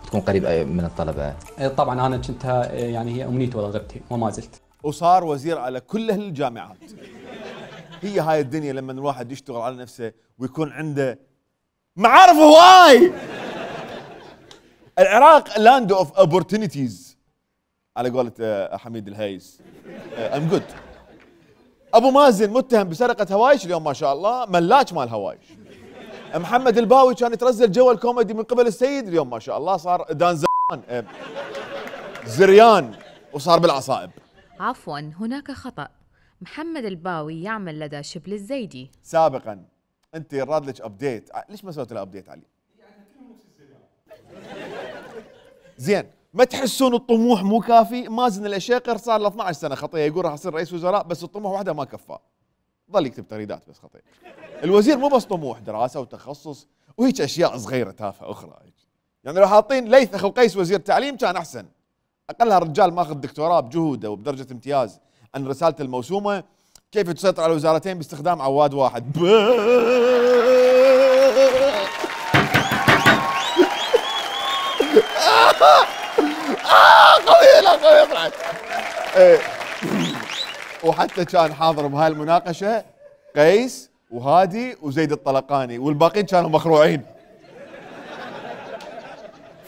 تكون قريب من الطلبه. طبعا انا كنت يعني هي امنيتي ورغبتي وما زلت. وصار وزير على كل الجامعات. هي هاي الدنيا لما الواحد يشتغل على نفسه ويكون عنده معارف هواي. العراق لاند اوف اوبورتونيتيز على قولة حميد الهيس. ام جود. ابو مازن متهم بسرقة هوايش اليوم ما شاء الله ملاك مال هوايش. محمد الباوي كان يترزل جو الكوميدي من قبل السيد، اليوم ما شاء الله صار دان زريان وصار بالعصائب. عفوا، هناك خطأ. محمد الباوي يعمل لدى شبل الزيدي. سابقا انت راد لك ابديت، ليش ما سويت له ابديت علي؟ زين، ما تحسون الطموح مو كافي؟ مازن الاشيقر صار له 12 سنه خطيه يقول راح اصير رئيس وزراء، بس الطموح وحده ما كفاه، ظل يكتب تغريدات بس خطيه. الوزير مو بس طموح، دراسه وتخصص وهيك اشياء صغيره تافهه اخرى. يعني لو حاطين ليث اخو قيس وزير تعليم كان احسن، اقلها رجال ماخذ دكتوراه بجهوده وبدرجه امتياز عن رسالته الموسومه كيف تسيطر على الوزارتين باستخدام عواد واحد. قوية، لا قوية طلعت. وحتى كان حاضر بهاي المناقشة قيس وهادي وزيد الطلقاني والباقيين كانوا مخروعين.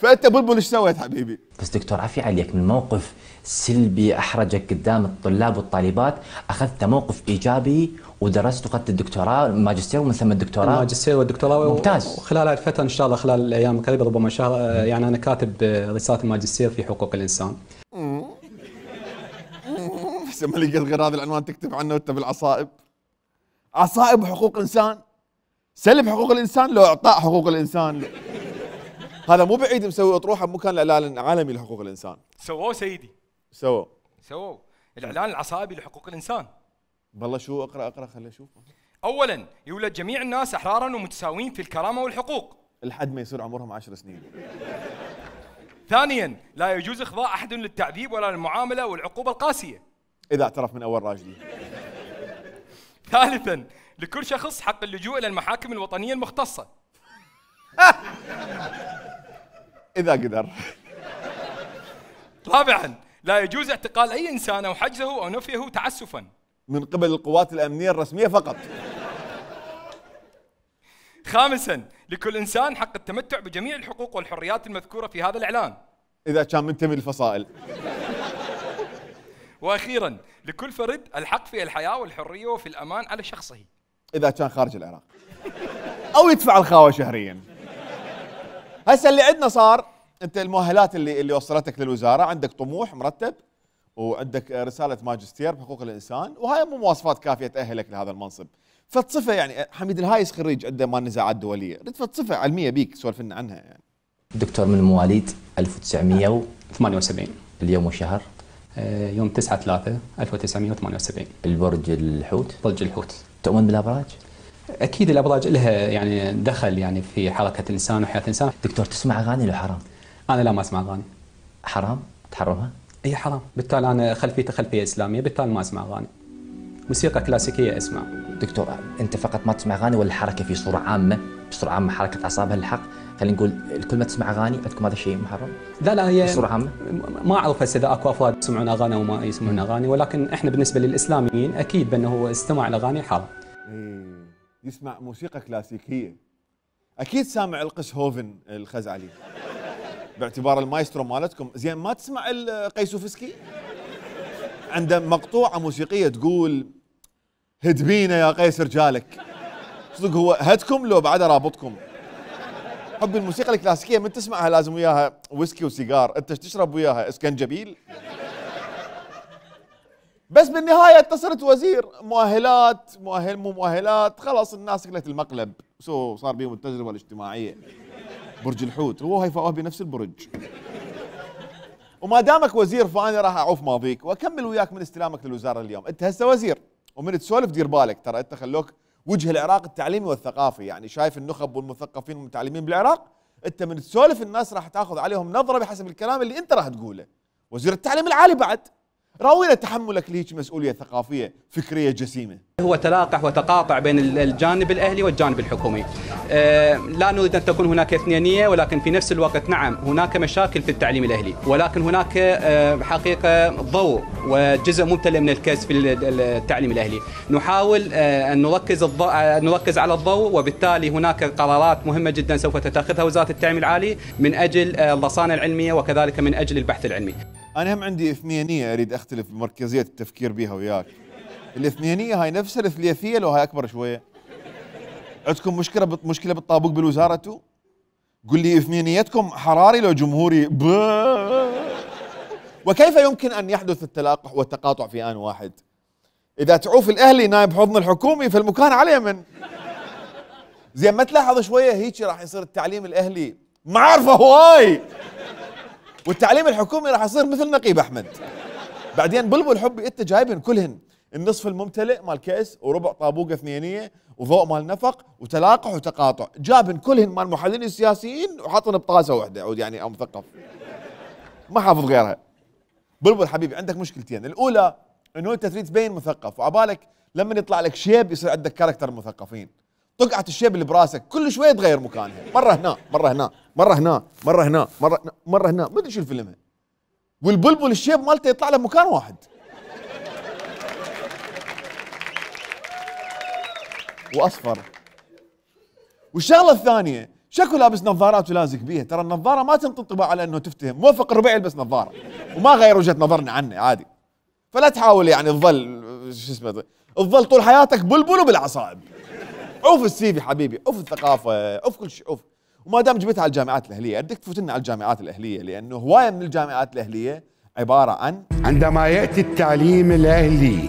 فأنت بلبل ايش سويت حبيبي؟ بس دكتور عفي عليك، من موقف سلبي احرجك قدام الطلاب والطالبات اخذت موقف ايجابي ودرست واخذت الدكتوراه الماجستير ومن ثم الدكتوراه. الماجستير والدكتوراه ممتاز. وخلال هذه الفتره ان شاء الله خلال الايام القريبه ربما شهر يعني انا كاتب رساله الماجستير في حقوق الانسان. بس ما لقيت غير هذا العنوان تكتب عنه وانت بالعصائب. عصائب حقوق انسان، سلب حقوق الانسان لو اعطاء حقوق الانسان. هذا مو بعيد مسوي اطروحه بمكان الاعلان العالمي لحقوق الانسان. سووه سيدي، سووا الاعلان العصائبي لحقوق الانسان. والله شو اقرا خليني اشوف. اولا يولد جميع الناس احرارا ومتساويين في الكرامه والحقوق لحد ما يصير عمرهم 10 سنين. ثانيا لا يجوز اخضاع احد للتعذيب ولا للمعامله والعقوبه القاسيه اذا اعترف من اول راجلي. ثالثا لكل شخص حق اللجوء الى المحاكم الوطنيه المختصه اذا قدر. رابعا لا يجوز اعتقال اي انسان او حجزه او نفيه تعسفا من قبل القوات الامنيه الرسميه فقط. خامسا لكل انسان حق التمتع بجميع الحقوق والحريات المذكوره في هذا الاعلان اذا كان منتمي للفصائل. واخيرا لكل فرد الحق في الحياه والحريه وفي الامان على شخصه اذا كان خارج العراق او يدفع الخاوه شهريا. هسه اللي عندنا صار انت المؤهلات اللي وصلتك للوزاره، عندك طموح مرتب وعندك رساله ماجستير بحقوق الانسان، وهاي مو مواصفات كافيه تاهلك لهذا المنصب. فتصفه يعني حميد الهايس خريج عنده مال نزاعات دوليه، رد فتصفه علميه بيك سولف لنا عنها يعني. دكتور من مواليد 1978 اليوم والشهر يوم 9/3/1978. البرج الحوت. برج الحوت. تؤمن بالابراج؟ اكيد الابراج لها يعني دخل يعني في حركه الانسان وحياه الانسان. دكتور تسمع اغاني ولا حرام؟ انا لا ما اسمع اغاني. حرام؟ تحرمها؟ اي حرام، بالتالي انا خلفيتي خلفيه اسلاميه، بالتالي ما اسمع اغاني. موسيقى كلاسيكيه اسمع. دكتور انت فقط ما تسمع اغاني ولا الحركه في صوره عامه؟ بصوره عامه حركه اعصابها الحق، خلينا نقول الكل ما تسمع اغاني عندكم هذا الشيء محرم؟ لا هي بصوره عامه ما اعرف هسه اذا اكو افراد يسمعون اغاني او ما يسمعون اغاني، ولكن احنا بالنسبه للاسلاميين اكيد بانه استماع الاغاني حرام. يسمع موسيقى كلاسيكيه، اكيد سامع القس هوفن الخزعلي باعتبار المايسترو مالتكم. زين ما تسمع القيسوفسكي؟ عنده مقطوعه موسيقيه تقول هد بينا يا قيس رجالك. صدق هو هدكم لو بعد رابطكم. حب الموسيقى الكلاسيكيه من تسمعها لازم وياها ويسكي وسيجار، انت تشرب وياها اسكنجبيل. بس بالنهايه انت صرت وزير، مؤهلات مو مؤهلات، خلاص الناس اكلت المقلب، صار بيهم التجربه الاجتماعيه. برج الحوت هو هيفاء بنفس البرج. وما دامك وزير فانا راح اعوف ماضيك واكمل وياك من استلامك للوزاره اليوم. انت هسه وزير ومن تسولف دير بالك، ترى انت خلوك وجه العراق التعليمي والثقافي، يعني شايف النخب والمثقفين والمتعلمين بالعراق، انت من تسولف الناس راح تاخذ عليهم نظره بحسب الكلام اللي انت راح تقوله. وزير التعليم العالي بعد، راوينا تحملك لهيك مسؤوليه ثقافيه فكريه جسيمه. هو تلاقح وتقاطع بين الجانب الاهلي والجانب الحكومي. لا نريد ان تكون هناك اثنينيه، ولكن في نفس الوقت نعم هناك مشاكل في التعليم الاهلي، ولكن هناك حقيقه ضوء وجزء ممتلئ من الكاس في التعليم الاهلي. نحاول ان نركز على الضوء، وبالتالي هناك قرارات مهمه جدا سوف تتخذها وزاره التعليم العالي من اجل الرصانه العلميه وكذلك من اجل البحث العلمي. انا هم عندي اثنينيه اريد اختلف بمركزيه التفكير بها وياك. الاثنينيه هاي نفسها الثلاثيه لو هاي اكبر شويه؟ عندكم مشكله بالطابوق بالوزاره انتو؟ قل لي اثنينيتكم حراري لو جمهوري وكيف يمكن ان يحدث التلاقح والتقاطع في آن واحد؟ اذا تعوف الاهلي نايب حضن الحكومي فالمكان على اليمن. زين ما تلاحظ شويه هيك راح يصير التعليم الاهلي معارفه هواي، والتعليم الحكومي راح يصير مثل نقيب احمد. بعدين بلبل حبي انت جايبن كلهن النصف الممتلئ مال كأس وربع طابوقه اثنينيه وضوء مال نفق وتلاقح وتقاطع، جابن كلهن مال المحللين السياسيين وحاطن بطاسه واحده عود يعني او مثقف ما حافظ غيرها. بلبل حبيبي عندك مشكلتين، الاولى انه انت تريد تبين مثقف وعبالك لما يطلع لك شيب يصير عندك كاركتر المثقفين، طقعه الشيب اللي براسك كل شويه تغير مكانها، مره هنا مره هنا مره هنا مره هنا مره هنا ما ادري شو الفيلم. والبلبل الشيب مالته يطلع له مكان واحد. واصفر. والشغله الثانيه شكو لابس نظارات ولازق بيها، ترى النظاره ما تنطي انطباع على انه تفتهم، موفق الربيع يلبس نظاره وما غير وجهه نظرنا عنه عادي. فلا تحاول يعني تظل شو اسمه تظل طول حياتك بلبل وبالعصائب. عوف السيفي حبيبي، عوف الثقافه، عوف كل شيء، عوف. وما دام جبتها على الجامعات الاهليه، ادك تفوت لنا على الجامعات الاهليه، لانه هوايه من الجامعات الاهليه عباره عن عندما ياتي التعليم الاهلي،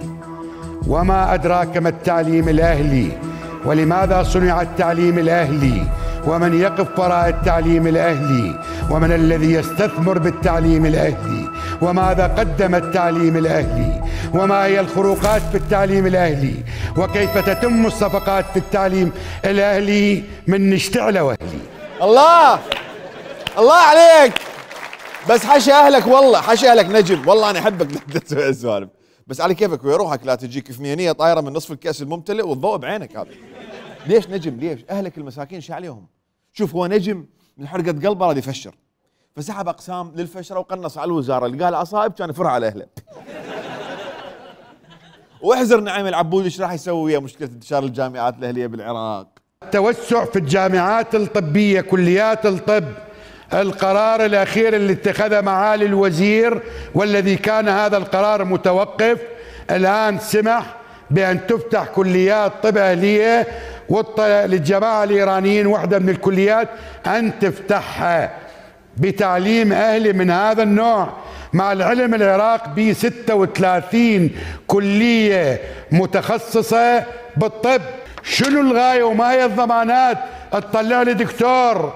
وما ادراك ما التعليم الاهلي، ولماذا صنع التعليم الاهلي، ومن يقف وراء التعليم الاهلي، ومن الذي يستثمر بالتعليم الاهلي، وماذا قدم التعليم الاهلي، وما هي الخروقات في التعليم الاهلي، وكيف تتم الصفقات في التعليم الاهلي من نشتعل واهلي. الله الله عليك، بس حشي اهلك والله، حشي اهلك نجم، والله انا احبك تسوي السوالف، بس على كيفك ويا روحك لا تجيك ثنينيه طايره من نصف الكاس الممتلئ والضوء بعينك هذا. ليش نجم؟ ليش؟ اهلك المساكين شو عليهم؟ شوف هو نجم من حرقه قلبه راد يفشر، فسحب اقسام للفشره وقنص على الوزاره، اللي قال عصائب كان يفرها على اهله. واحذر نعيم العبودي ايش راح يسوي ويا مشكله انتشار الجامعات الاهليه بالعراق. التوسع في الجامعات الطبيه، كليات الطب، القرار الاخير اللي اتخذه معالي الوزير والذي كان هذا القرار متوقف، الان سمح بان تفتح كليات طب اهليه، للجماعه الايرانيين واحده من الكليات ان تفتحها بتعليم اهلي من هذا النوع. مع العلم العراق ب 36 كليه متخصصه بالطب. شنو الغايه وما هي الضمانات تطلع لي دكتور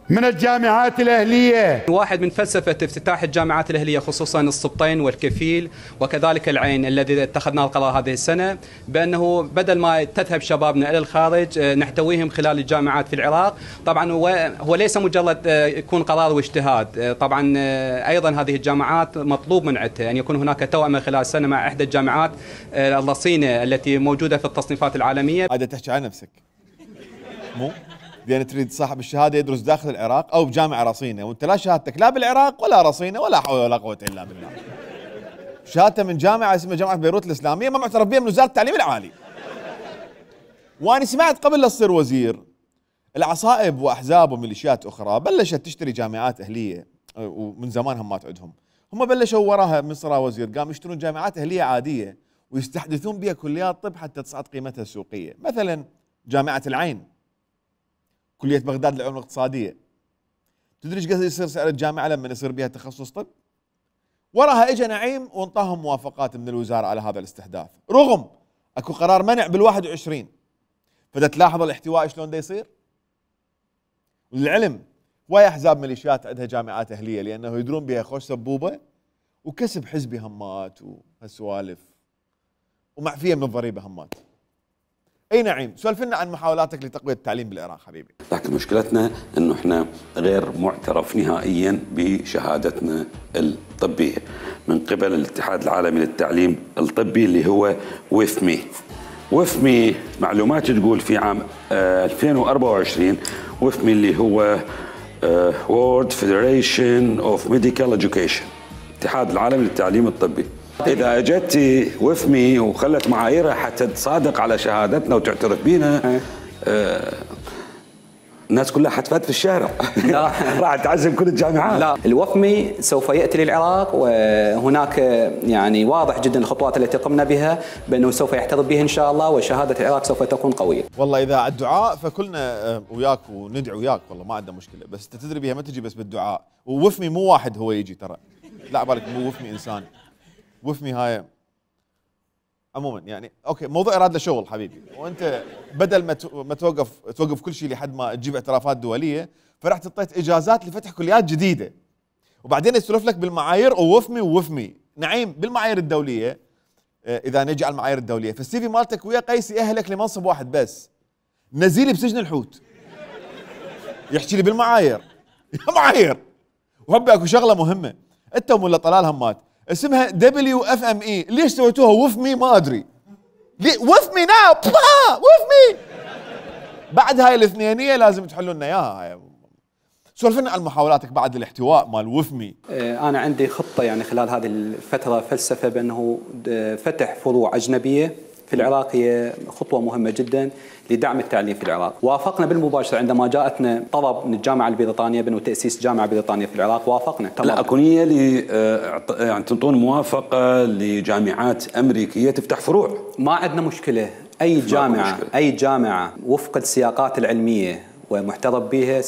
من الجامعات الأهلية؟ واحد من فلسفة افتتاح الجامعات الأهلية خصوصا السبطين والكفيل وكذلك العين الذي اتخذناه القرار هذه السنة، بأنه بدل ما تذهب شبابنا إلى الخارج نحتويهم خلال الجامعات في العراق. طبعا هو ليس مجرد يكون قرار واجتهاد، طبعا أيضا هذه الجامعات مطلوب من عندها أن يكون هناك توأمة خلال السنة مع إحدى الجامعات الرصينة التي موجودة في التصنيفات العالمية. هذا تحكي عن نفسك مو؟ لأن تريد صاحب الشهادة يدرس داخل العراق أو بجامعة رصينة، وأنت لا شهادتك لا بالعراق ولا رصينة ولا حول ولا قوة إلا بالله. شهادته من جامعة اسمها جامعة بيروت الإسلامية ما معترف بها من وزارة التعليم العالي. وأنا سمعت قبل لا تصير وزير العصائب وأحزاب وميليشيات أخرى بلشت تشتري جامعات أهلية، ومن زمان هم ما تعدهم. هم بلشوا وراها من صار وزير قام يشترون جامعات أهلية عادية ويستحدثون بها كليات طب حتى تصعد قيمتها السوقية. مثلا جامعة العين، كلية بغداد للعلوم الاقتصادية، تدري ايش قد يصير سعر الجامعة لما يصير بها تخصص طب؟ وراها اجى نعيم وانطاهم موافقات من الوزارة على هذا الاستحداث، رغم اكو قرار منع بال21. فدا تلاحظ الاحتواء شلون دا يصير؟ وللعلم هواي احزاب ميليشيات عندها جامعات اهلية لانه يدرون بها خوش سبوبة وكسب حزبي همات وهالسوالف ومعفية من الضريبة همات. اي نعيم، سولف لنا عن محاولاتك لتقوية التعليم بالعراق حبيبي. لكن مشكلتنا انه احنا غير معترف نهائيا بشهادتنا الطبية من قبل الاتحاد العالمي للتعليم الطبي اللي هو وفمي. وفمي معلومات تقول في عام 2024 وفمي اللي هو World Federation of Medical Education، الاتحاد العالمي للتعليم الطبي، إذا أجت وفمي وخلت معاييرها حتى تصادق على شهادتنا وتعترف بينا، الناس كلها حتفات في الشارع. لا راح تعزم كل الجامعات. لا، الوفمي سوف ياتي للعراق، وهناك يعني واضح جدا الخطوات التي قمنا بها بانه سوف يحتضن بها ان شاء الله، وشهاده العراق سوف تكون قويه. والله اذا الدعاء فكلنا وياك وندعو وياك، والله ما عندنا مشكله، بس انت تدري بها ما تجي بس بالدعاء، ووفمي مو واحد هو يجي ترى، لا بالك مو وفمي انسان، وفمي هاي عموما يعني اوكي موضوع اراد له شغل حبيبي، وانت بدل ما توقف كل شيء لحد ما تجيب اعترافات دوليه، فرحت اعطيت اجازات لفتح كليات جديده، وبعدين يسولف لك بالمعايير ووفمي نعيم بالمعايير الدوليه. اذا نجي على المعايير الدوليه فالسي في مالتك ويا قيس يأهلك لمنصب واحد بس، نزيلي بسجن الحوت. يحكي لي بالمعايير يا معايير. وهبي اكو شغله مهمه، انت ولا طلال همات اسمها WFME، ليش سويتوها وفمي ما ادري. وفمي ناو وفمي. بعد هاي الاثنينيه لازم تحلوا لنا اياها. سولف لنا عن محاولاتك بعد الاحتواء مال وفمي. انا عندي خطه يعني خلال هذه الفتره فلسفه بانه فتح فروع اجنبيه في العراق هي خطوه مهمه جدا لدعم التعليم في العراق. وافقنا بالمباشره عندما جاءتنا طلب من الجامعه البريطانيه بانه تاسيس جامعه بريطانيه في العراق، وافقنا تمام. لا اكو نيه يعني تنطون موافقه لجامعات امريكيه تفتح فروع؟ ما عندنا مشكله، اي جامعه وفق السياقات العلميه ومحترف بها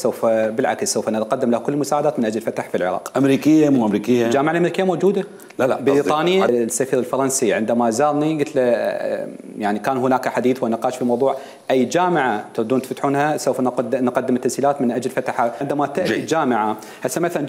بالعكس سوف نقدم له كل المساعدات من اجل فتح في العراق. امريكيه مو امريكيه؟ الجامعه الامريكيه موجوده. لا بريطانيا. السفير الفرنسي عندما زارني قلت له يعني كان هناك حديث ونقاش في موضوع اي جامعه تردون تفتحونها سوف نقدم التسهيلات من اجل فتحها. عندما تاتي جامعه هسه مثلا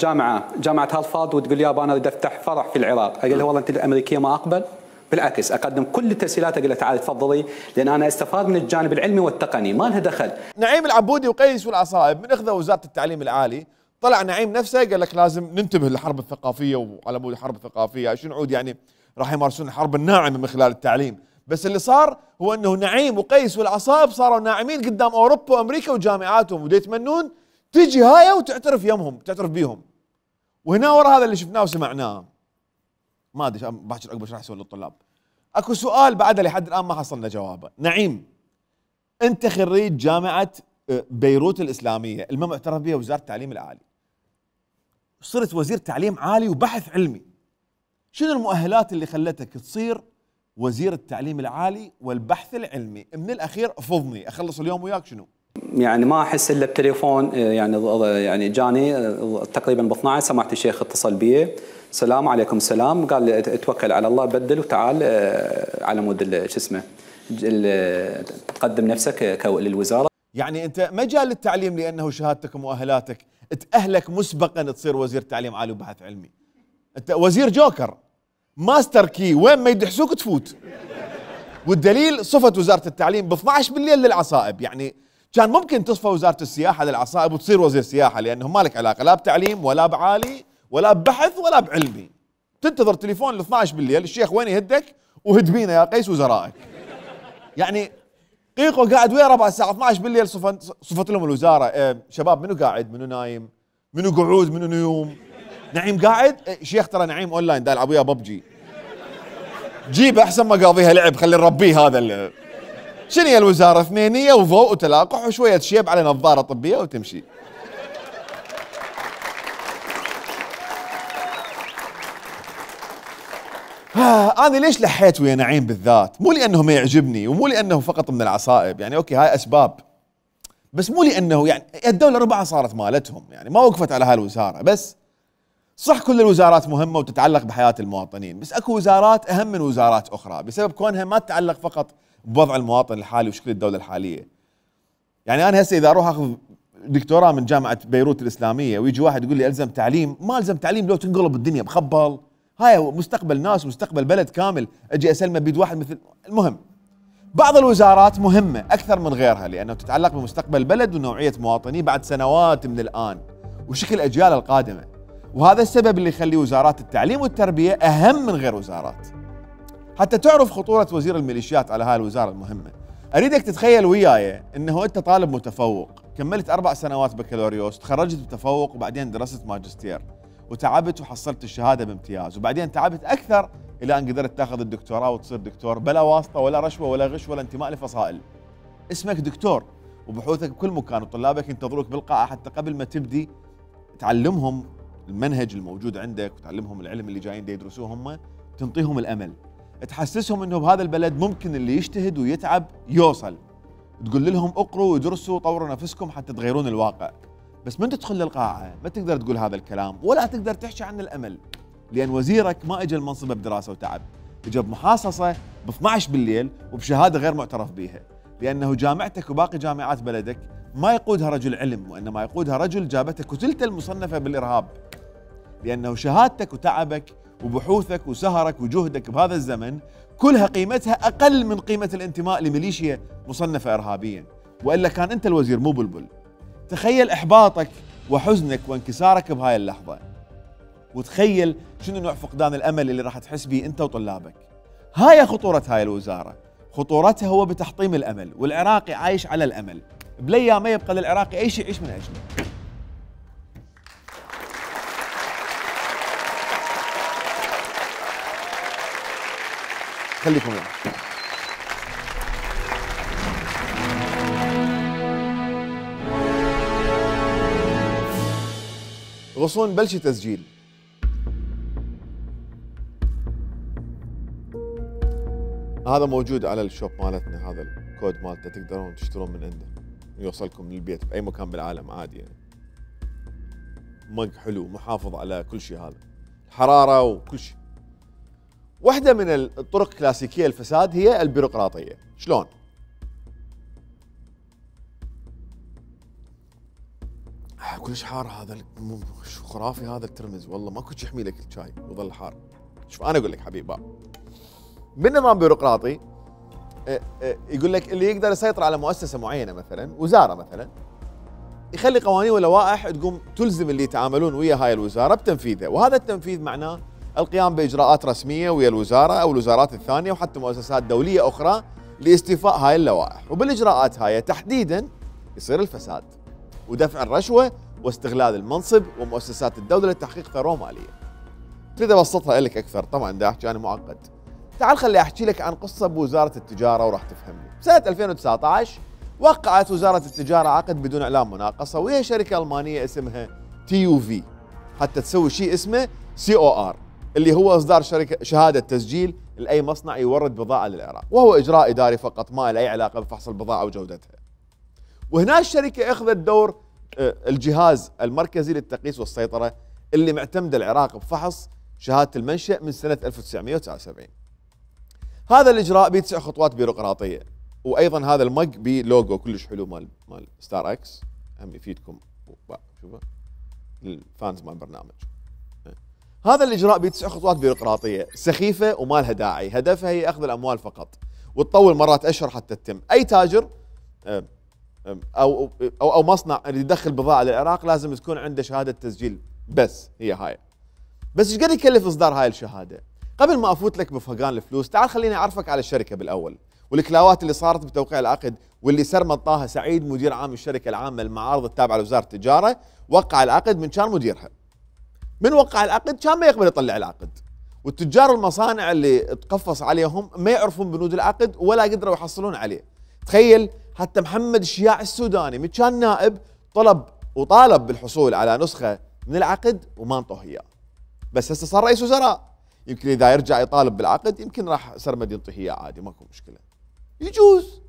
جامعه هارفارد وتقول يابا انا اريد افتح فرع في العراق، اقول له والله انت الامريكيه ما اقبل، بالعكس اقدم كل التسهيلات، اقول له تعال تفضلي، لان انا استفاد من الجانب العلمي والتقني، ما لها دخل. نعيم العبودي وقيس والعصائب من اخذوا وزاره التعليم العالي، طلع نعيم نفسه قال لك لازم ننتبه للحرب الثقافيه، وعلى بود الحرب الثقافيه شنو عود يعني راح يمارسون الحرب الناعمه من خلال التعليم، بس اللي صار هو انه نعيم وقيس والعصائب صاروا ناعمين قدام اوروبا وامريكا وجامعاتهم، ودا يتمنون تجي هاي وتعترف يمهم، تعترف بيهم. وهنا ورا هذا اللي شفناه وسمعناه ما ادري باكر عقب ايش راح يسوي للطلاب. اكو سؤال بعده لحد الان ما حصلنا جوابه. نعيم انت خريج جامعه بيروت الاسلاميه المهم اعترف بها وزاره التعليم العالي، صرت وزير تعليم عالي وبحث علمي، شنو المؤهلات اللي خلتك تصير وزير التعليم العالي والبحث العلمي؟ من الاخير فضني اخلص اليوم وياك شنو؟ يعني ما احس الا بتليفون، يعني جاني تقريبا ب 12 سمعت الشيخ اتصل بي، السلام عليكم السلام، قال لي اتوكل على الله بدل وتعال على مود شو اسمه تقدم نفسك للوزاره. يعني انت مجال التعليم لانه شهادتك ومؤهلاتك تاهلك مسبقا تصير وزير تعليم عالي وبحث علمي. انت وزير جوكر ماستر كي، وين ما يدحسوك تفوت. والدليل صفت وزاره التعليم ب 12 بالليل للعصائب، يعني كان ممكن تصفى وزاره السياحه للعصائب وتصير وزير سياحه، لانه ما لك علاقه لا بتعليم ولا بعالي ولا ببحث ولا بعلمي. تنتظر تليفون ل 12 بالليل، الشيخ وين يهدك وهد بينا يا قيس وزرائك. يعني قيقو قاعد ويا ربع الساعه 12 بالليل صفت لهم الوزاره شباب منو قاعد منو نايم منو قعود منو نيوم. نعيم قاعد شيخ ترى نعيم اونلاين دا يلعب ويا ببجي، جيب احسن ما قاضيها لعب خلي نربيه هذا. شنو هي الوزاره؟ اثنينيه وضوء وتلاقح وشويه شيب على نظاره طبيه وتمشي. أنا ليش لحيت ويا نعيم بالذات؟ مو لأنه ما يعجبني ومو لأنه فقط من العصائب، يعني أوكي هاي أسباب، بس مو لأنه يعني الدولة ربعها صارت مالتهم، يعني ما وقفت على هاي الوزارة بس. صح كل الوزارات مهمة وتتعلق بحياة المواطنين، بس أكو وزارات أهم من وزارات أخرى بسبب كونها ما تتعلق فقط بوضع المواطن الحالي وشكل الدولة الحالية. يعني أنا هسه إذا أروح أخذ دكتوراه من جامعة بيروت الإسلامية ويجي واحد يقول لي ألزم تعليم، ما ألزم تعليم لو تنقلب الدنيا بخبل، هاي مستقبل ناس مستقبل بلد كامل، اجي اسلمه بيد واحد مثل. المهم بعض الوزارات مهمه اكثر من غيرها لانه تتعلق بمستقبل البلد ونوعيه مواطنيه بعد سنوات من الان وشكل الاجيال القادمه، وهذا السبب اللي يخلي وزارات التعليم والتربيه اهم من غير وزارات. حتى تعرف خطوره وزير الميليشيات على هاي الوزاره المهمه، اريدك تتخيل وياي انه انت طالب متفوق، كملت 4 سنوات بكالوريوس، تخرجت بتفوق وبعدين درست ماجستير وتعبت وحصلت الشهاده بامتياز، وبعدين تعبت اكثر الى ان قدرت تاخذ الدكتوراه وتصير دكتور بلا واسطه ولا رشوه ولا غش ولا انتماء لفصائل. اسمك دكتور وبحوثك بكل مكان، وطلابك ينتظروك بالقاعه حتى قبل ما تبدي تعلمهم المنهج الموجود عندك وتعلمهم العلم اللي جايين يدرسوه هم، تنطيهم الامل، تحسسهم انه بهذا البلد ممكن اللي يجتهد ويتعب يوصل، تقول لهم اقروا ودرسوا وطوروا نفسكم حتى تغيرون الواقع. بس من تدخل للقاعه ما تقدر تقول هذا الكلام ولا تقدر تحكي عن الامل، لان وزيرك ما اجى المنصب بدراسه وتعب، اجى بمحاصصه ب 12 بالليل وبشهاده غير معترف بها، لانه جامعتك وباقي جامعات بلدك ما يقودها رجل علم، وانما يقودها رجل جابته كتلته المصنفه بالارهاب، لانه شهادتك وتعبك وبحوثك وسهرك وجهدك بهذا الزمن كلها قيمتها اقل من قيمه الانتماء لميليشيا مصنفه ارهابيا، والا كان انت الوزير مو بلبل. تخيل احباطك وحزنك وانكسارك بهاي اللحظه، وتخيل شنو نوع فقدان الامل اللي راح تحس به انت وطلابك. هاي خطوره هاي الوزاره، خطورتها هو بتحطيم الامل، والعراقي عايش على الامل، بالايام ما يبقى للعراقي اي شيء يعيش من اجله. خليكم معي. غصون بلشي تسجيل. هذا موجود على الشوب مالتنا، هذا الكود مالته تقدرون تشترون من عنده يوصلكم للبيت بأي مكان بالعالم عادي يعني. مج حلو محافظ على كل شيء، هذا الحرارة وكل شيء. واحدة من الطرق الكلاسيكية للفساد هي البيروقراطية. شلون؟ كلش حار هذا، شو خرافي هذا الترمز، والله ماكو شيء يحمي لك الشاي ويظل حار. شوف انا اقول لك حبيب باب، بالنظام بيروقراطي يقول لك اللي يقدر يسيطر على مؤسسة معينة مثلا وزارة مثلا، يخلي قوانين ولوائح تقوم تلزم اللي يتعاملون ويا هاي الوزارة بتنفيذها، وهذا التنفيذ معناه القيام بإجراءات رسمية ويا الوزارة أو الوزارات الثانية وحتى مؤسسات دولية أخرى لاستيفاء هاي اللوائح، وبالإجراءات هاي تحديدا يصير الفساد ودفع الرشوة واستغلال المنصب ومؤسسات الدولة لتحقيق ثروة مالية. تريد أبسطها لك أكثر، طبعا دا أحكي أنا معقد. تعال خلي أحكي لك عن قصة بوزارة التجارة وراح تفهمني. سنة 2019 وقعت وزارة التجارة عقد بدون إعلان مناقصة وهي شركة ألمانية اسمها TUV حتى تسوي شيء اسمه COR اللي هو إصدار شهادة تسجيل لأي مصنع يورد بضاعة للعراق، وهو إجراء إداري فقط ما له أي علاقة بفحص البضاعة وجودتها. وهنا الشركة أخذت دور الجهاز المركزي للتقييس والسيطرة اللي معتمد العراق بفحص شهادة المنشأ من سنة 1979. هذا الإجراء ب9 خطوات بيروقراطية، وأيضا هذا المج بلوجو كلش حلو مال ستار اكس، هم يفيدكم شوفوا الفانز مال البرنامج. هذا الإجراء ب9 خطوات بيروقراطية سخيفة وما لها داعي، هدفها هي أخذ الأموال فقط، وتطول مرات أشهر حتى تتم. أي تاجر أو مصنع اللي يدخل بضاعة للعراق لازم تكون عنده شهادة تسجيل، بس هي هاي. بس ايش قد يكلف إصدار هاي الشهادة؟ قبل ما أفوت لك بفقان الفلوس تعال خليني أعرفك على الشركة بالأول والكلاوات اللي صارت بتوقيع العقد، واللي سرمد طه سعيد مدير عام الشركة العامة للمعارض التابعة لوزارة التجارة وقع العقد من كان مديرها. من وقع العقد كان ما يقبل يطلع العقد، والتجار والمصانع اللي تقفص عليهم ما يعرفون بنود العقد ولا قدروا يحصلون عليه. تخيل حتى محمد الشياع السوداني من كان نائب طالب بالحصول على نسخة من العقد وما انطوه اياه، بس هسه صار رئيس وزراء، يمكن اذا يرجع يطالب بالعقد يمكن راح سرمد ينطيه اياه عادي، ماكو مشكلة، يجوز.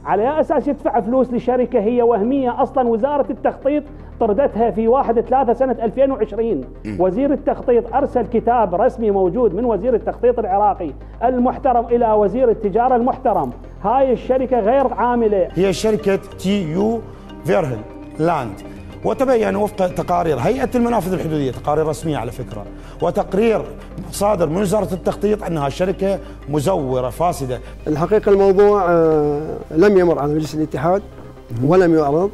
على أي أساس يدفع فلوس لشركة هي وهمية؟ أصلا وزارة التخطيط طردتها في 1/3 سنة 2020. وزير التخطيط أرسل كتاب رسمي موجود من وزير التخطيط العراقي المحترم إلى وزير التجارة المحترم، هاي الشركة غير عاملة. هي شركة TU فيرهن لاند، وتبين وفق تقارير هيئة المنافذ الحدودية، تقارير رسمية على فكرة، وتقرير صادر من وزارة التخطيط أنها شركة مزورة فاسدة. الحقيقة الموضوع لم يمر على مجلس الاتحاد ولم يعرض،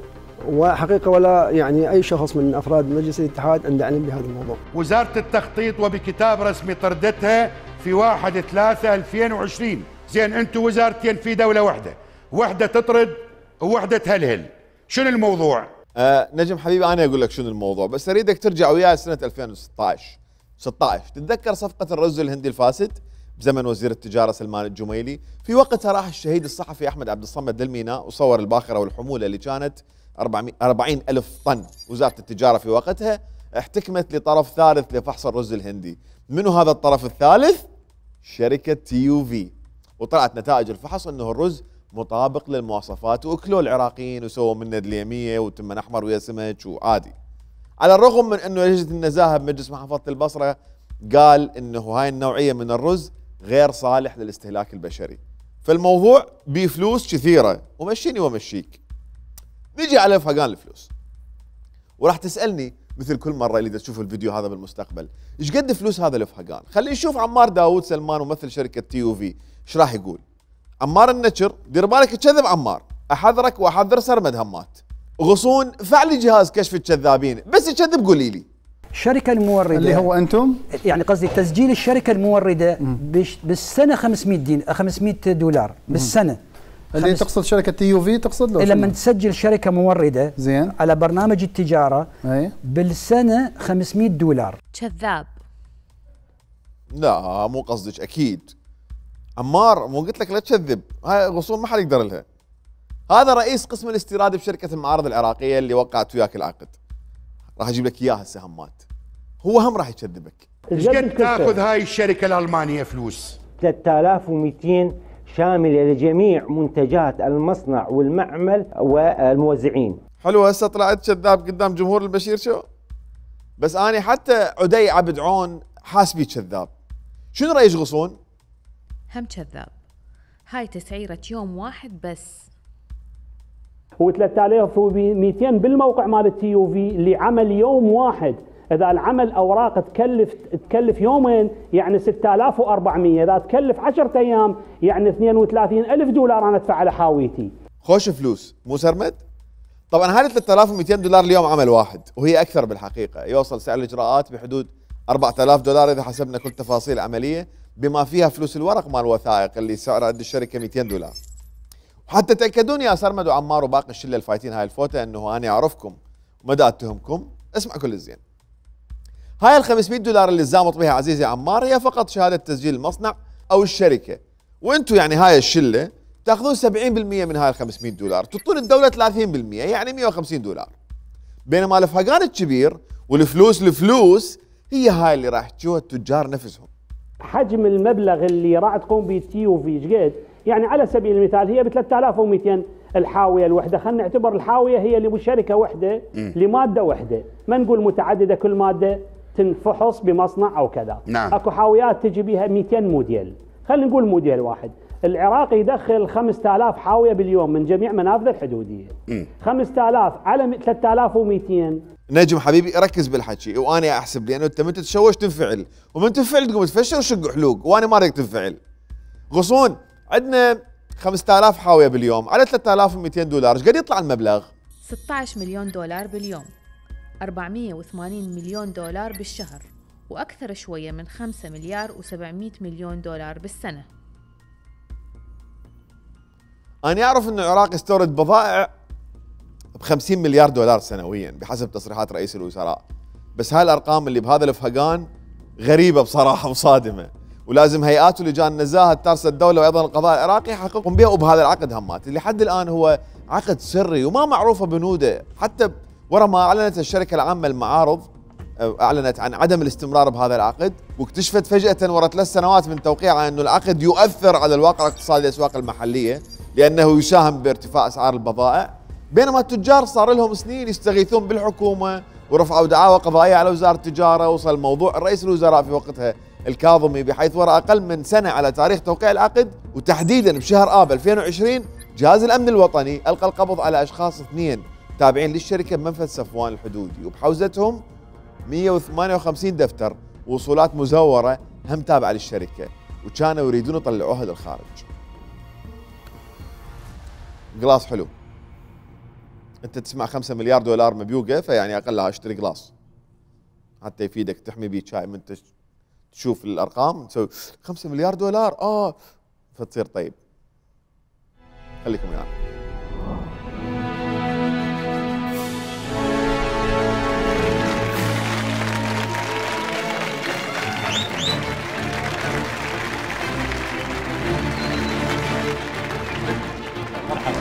وحقيقة ولا يعني أي شخص من أفراد مجلس الاتحاد عنده علم بهذا الموضوع. وزارة التخطيط وبكتاب رسمي طردتها في 1/3/2020. زين انتم وزارتين في دولة واحدة تطرد وواحدة تهلهل، شنو الموضوع؟ نجم حبيبي انا اقول لك شنو الموضوع، بس اريدك ترجع وياي سنه 2016 تتذكر صفقه الرز الهندي الفاسد؟ بزمن وزير التجارة سلمان الجميلي. في وقتها راح الشهيد الصحفي أحمد عبد الصمد للميناء وصور الباخرة والحمولة اللي كانت 40 ألف طن. وزارة التجارة في وقتها احتكمت لطرف ثالث لفحص الرز الهندي. منو هذا الطرف الثالث؟ شركة TUV. وطلعت نتائج الفحص أنه الرز مطابق للمواصفات، وأكلوا العراقيين وسووا منه دليمية وتمن أحمر ويا سمك وعادي. على الرغم من أنه لجنة النزاهة بمجلس محافظة البصرة قال أنه هاي النوعية من الرز غير صالح للاستهلاك البشري. فالموضوع بفلوس كثيرة ومشيني ومشيك. نيجي على فهقان الفلوس، وراح تسألني مثل كل مرة اللي تشوف الفيديو هذا بالمستقبل ايش قد فلوس هذا الفهقان. خلينا نشوف عمار داوود سلمان ممثل شركة TUV ايش راح يقول. عمار النشر، دير بالك تكذب عمار، احذرك واحذر سرمد همات. غصون فعلي جهاز كشف الكذابين، بس يكذب قولي لي. الشركة الموردة اللي هو انتم، يعني قصدي تسجيل الشركة الموردة بالسنة 500 دولار بالسنة. اللي تقصد شركة TUV تقصد له؟ لما تسجل شركة موردة زين على برنامج التجارة بالسنة 500 دولار. كذاب. لا مو قصدك اكيد. عمار مو قلت لك لا تكذب، هاي غصون ما حد يقدر لها. هذا رئيس قسم الاستيراد بشركة المعارض العراقية اللي وقعت وياك العقد. راح اجيب لك اياها هسه همات. هو هم راح يكذبك. ايش قد تاخذ هاي الشركة الألمانية فلوس؟ 3200 شاملة لجميع منتجات المصنع والمعمل والموزعين. حلو هسه طلعت كذاب قدام جمهور البشير شو؟ بس أنا حتى عدي عبد عون حاسبي كذاب. شنو رأيك غصون؟ هم كذاب. هاي تسعيرة يوم واحد بس. هو 3200 بالموقع مال TUV اللي عمل يوم واحد. إذا العمل أوراق تكلف يومين يعني 6400. إذا تكلف 10 أيام يعني 32,000 دولار أنا أدفع على حاويتي. خوش فلوس مو سرمد؟ طبعا هذه 3200 دولار اليوم عمل واحد، وهي أكثر بالحقيقة. يوصل سعر الإجراءات بحدود 4000 دولار إذا حسبنا كل تفاصيل العملية بما فيها فلوس الورق مال الوثائق اللي سعرها قد الشركة 200 دولار. وحتى تأكدون يا سرمد وعمار وباقي الشلة الفايتين هاي الفوتة أنه أنا أعرفكم ومدى أتهمكم. اسمع كل الزين. هاي ال 500 دولار اللي زامط بها عزيزي عمار هي فقط شهادة تسجيل المصنع أو الشركة، وأنتم يعني هاي الشلة تاخذون 70% من هاي ال 500 دولار، تعطون الدولة 30% يعني 150 دولار. بينما الفهقان الكبير والفلوس هي هاي اللي راح تجوها التجار نفسهم. حجم المبلغ اللي راح تقوم به TUV ايش قد؟ يعني على سبيل المثال هي ب 3200 الحاويه الوحده، خلينا نعتبر الحاويه هي اللي بشركه وحده لماده وحده، ما نقول متعدده كل ماده تنفحص بمصنع او كذا. نعم. اكو حاويات تجي بها 200 موديل، خلينا نقول موديل واحد. العراق يدخل 5000 حاويه باليوم من جميع منافذه الحدوديه. 5000 على 3200. نجم حبيبي ركز بالحكي وانا احسب، لانه انت من تتشوش تنفعل، ومن تنفعل تقوم تفشل وشق حلوق، وانا ما اريد تنفعل. غصون عندنا 5000 حاويه باليوم على 3200 دولار، ايش قد يطلع المبلغ؟ 16 مليون دولار باليوم، 480 مليون دولار بالشهر، واكثر شويه من 5 مليار و700 مليون دولار بالسنه. انا اعرف ان العراق يستورد بضائع ب50 مليار دولار سنويا بحسب تصريحات رئيس الوزراء، بس هاي الارقام اللي بهذا الفهقان غريبه بصراحه وصادمه، ولازم هيئات ولجان النزاهه تارس الدوله وايضا القضاء العراقي يحققون بها. وبهذا العقد همات اللي لحد الان هو عقد سري وما معروفه بنوده، حتى ورا ما اعلنت الشركه العامه للمعارض اعلنت عن عدم الاستمرار بهذا العقد، واكتشفت فجاه ورا 3 سنوات من توقيعها انه العقد يؤثر على الواقع الاقتصادي للاسواق المحليه لانه يساهم بارتفاع اسعار البضائع، بينما التجار صار لهم سنين يستغيثون بالحكومه ورفعوا دعاوى قضائيه على وزاره التجاره. وصل موضوع رئيس الوزراء في وقتها الكاظمي، بحيث ورا اقل من سنه على تاريخ توقيع العقد وتحديدا بشهر اب 2020 جهاز الامن الوطني القى القبض على اشخاص 2 تابعين للشركه بمنفذ صفوان الحدودي، وبحوزتهم 158 دفتر وصولات مزوره هم تابعه للشركه، وكانوا يريدون يطلعوها للخارج. قلاص حلو، انت تسمع 5 مليار دولار مبيوقه، فيعني اقلها اشتري قلاص حتى يفيدك تحمي بيه شاي. من تشوف الارقام تسوي 5 مليار دولار فتصير طيب. خليكم ويانا.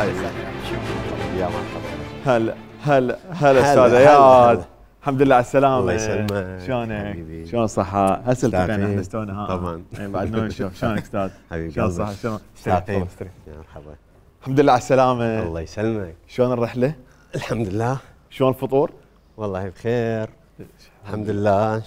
يا مرحبا. هلا استاذ اياد. الحمد لله على السلامة. الله يسلمك. شلونك؟ شلون الصحة؟ هسه التقينا احنا استونا ها. طبعا. بعد ما نشوف شلونك استاذ؟ حبيبي شلون الصحة؟ شلون؟ يا مرحبا. الحمد لله على السلامة. الله يسلمك. شلون الرحلة؟ الحمد لله. شلون الفطور؟ والله بخير. الحمد لله.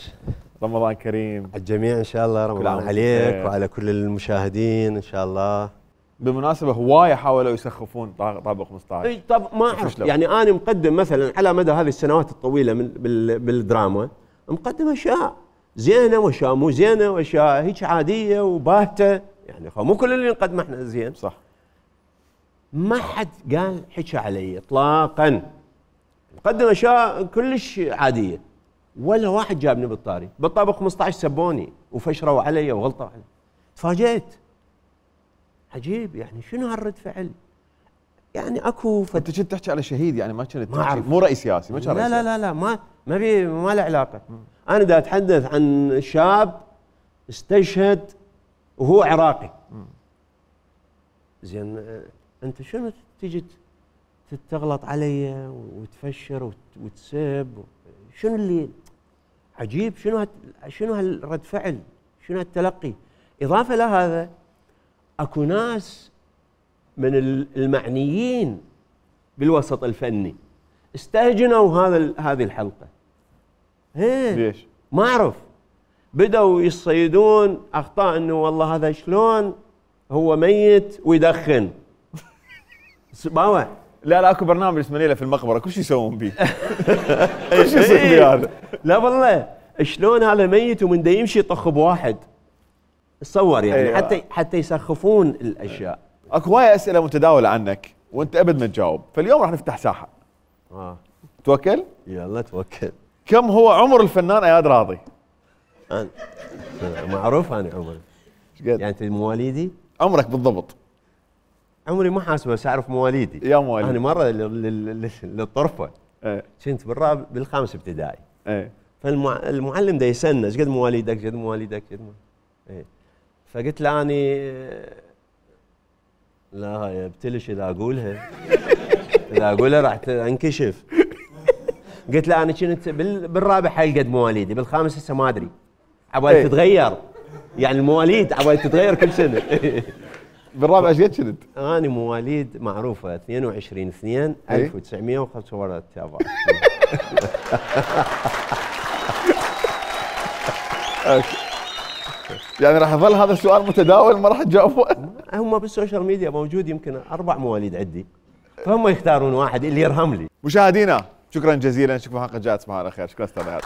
رمضان كريم على الجميع ان شاء الله. رمضان عليك وعلى كل المشاهدين ان شاء الله. بالمناسبة هواية حاولوا يسخفون طابق 15. اي طب ما اعرف يعني انا مقدم مثلا على مدى هذه السنوات الطويلة بالدراما مقدم اشياء زينة واشياء مو زينة واشياء هيك عادية وباهتة يعني مو كل اللي نقدمه احنا زين. صح. ما حد قال حكى علي اطلاقا. مقدم اشياء كلش عادية ولا واحد جابني بالطاري. بالطابق 15 سبوني وفشروا علي وغلطوا علي. تفاجأت. عجيب يعني شنو هالرد فعل؟ يعني اكو انت كنت تحكي على شهيد يعني ما كنت تحكي مو رئيس سياسي ما كان لا لا لا لا ما له علاقه. انا دا اتحدث عن شاب استشهد وهو عراقي. زين انت شنو تجي تغلط علي وتفشر وتسب شنو اللي عجيب؟ شنو هالرد فعل؟ شنو هالتلقي؟ اضافه لهذا اكو ناس من المعنيين بالوسط الفني استهجنوا هذه الحلقه. ليش؟ ما اعرف. بدأوا يصيدون اخطاء انه والله هذا شلون هو ميت ويدخن. باوع. لا اكو برنامج اسمه ليله في المقبره كل شيء يسوون بيه. اي شيء يصير بيه هذا. لا والله شلون هذا ميت ومن دا يمشي يطخ بواحد. تصور يعني حتى يسخفون الاشياء. اكو هواي اسئله متداوله عنك وانت ابد ما تجاوب، فاليوم راح نفتح ساحه. توكل؟ يلا توكل. كم هو عمر الفنان اياد راضي؟ معروف انا عمري. يعني انت مواليدي؟ عمرك بالضبط؟ عمري ما حاسبه بس اعرف مواليدي. يا مواليد. انا مره للطرفه كنت بالخامس ابتدائي. فالمعلم دا يسالنا ايش قد مواليدك؟ قد مواليدك؟ فقلت له اني لا ابتلش اذا اقولها راح انكشف. قلت له انا كنت بالرابع حيل قد مواليدي، بالخامس هسه ما ادري. عبالي تتغير يعني المواليد عبالي تتغير كل سنه. بالرابع ايش قد كنت؟ انا مواليد معروفه 22/2/1945. يعني راح يظل هذا السؤال متداول ما راح تجاوبه؟ هم بالسوشيال ميديا موجود يمكن 4 مواليد عندي فهم يختارون واحد اللي يرهم لي. مشاهدينا شكرا جزيلا، نشوفكم حلقه جايه تصبحوا على خير. شكرا استاذ اياد.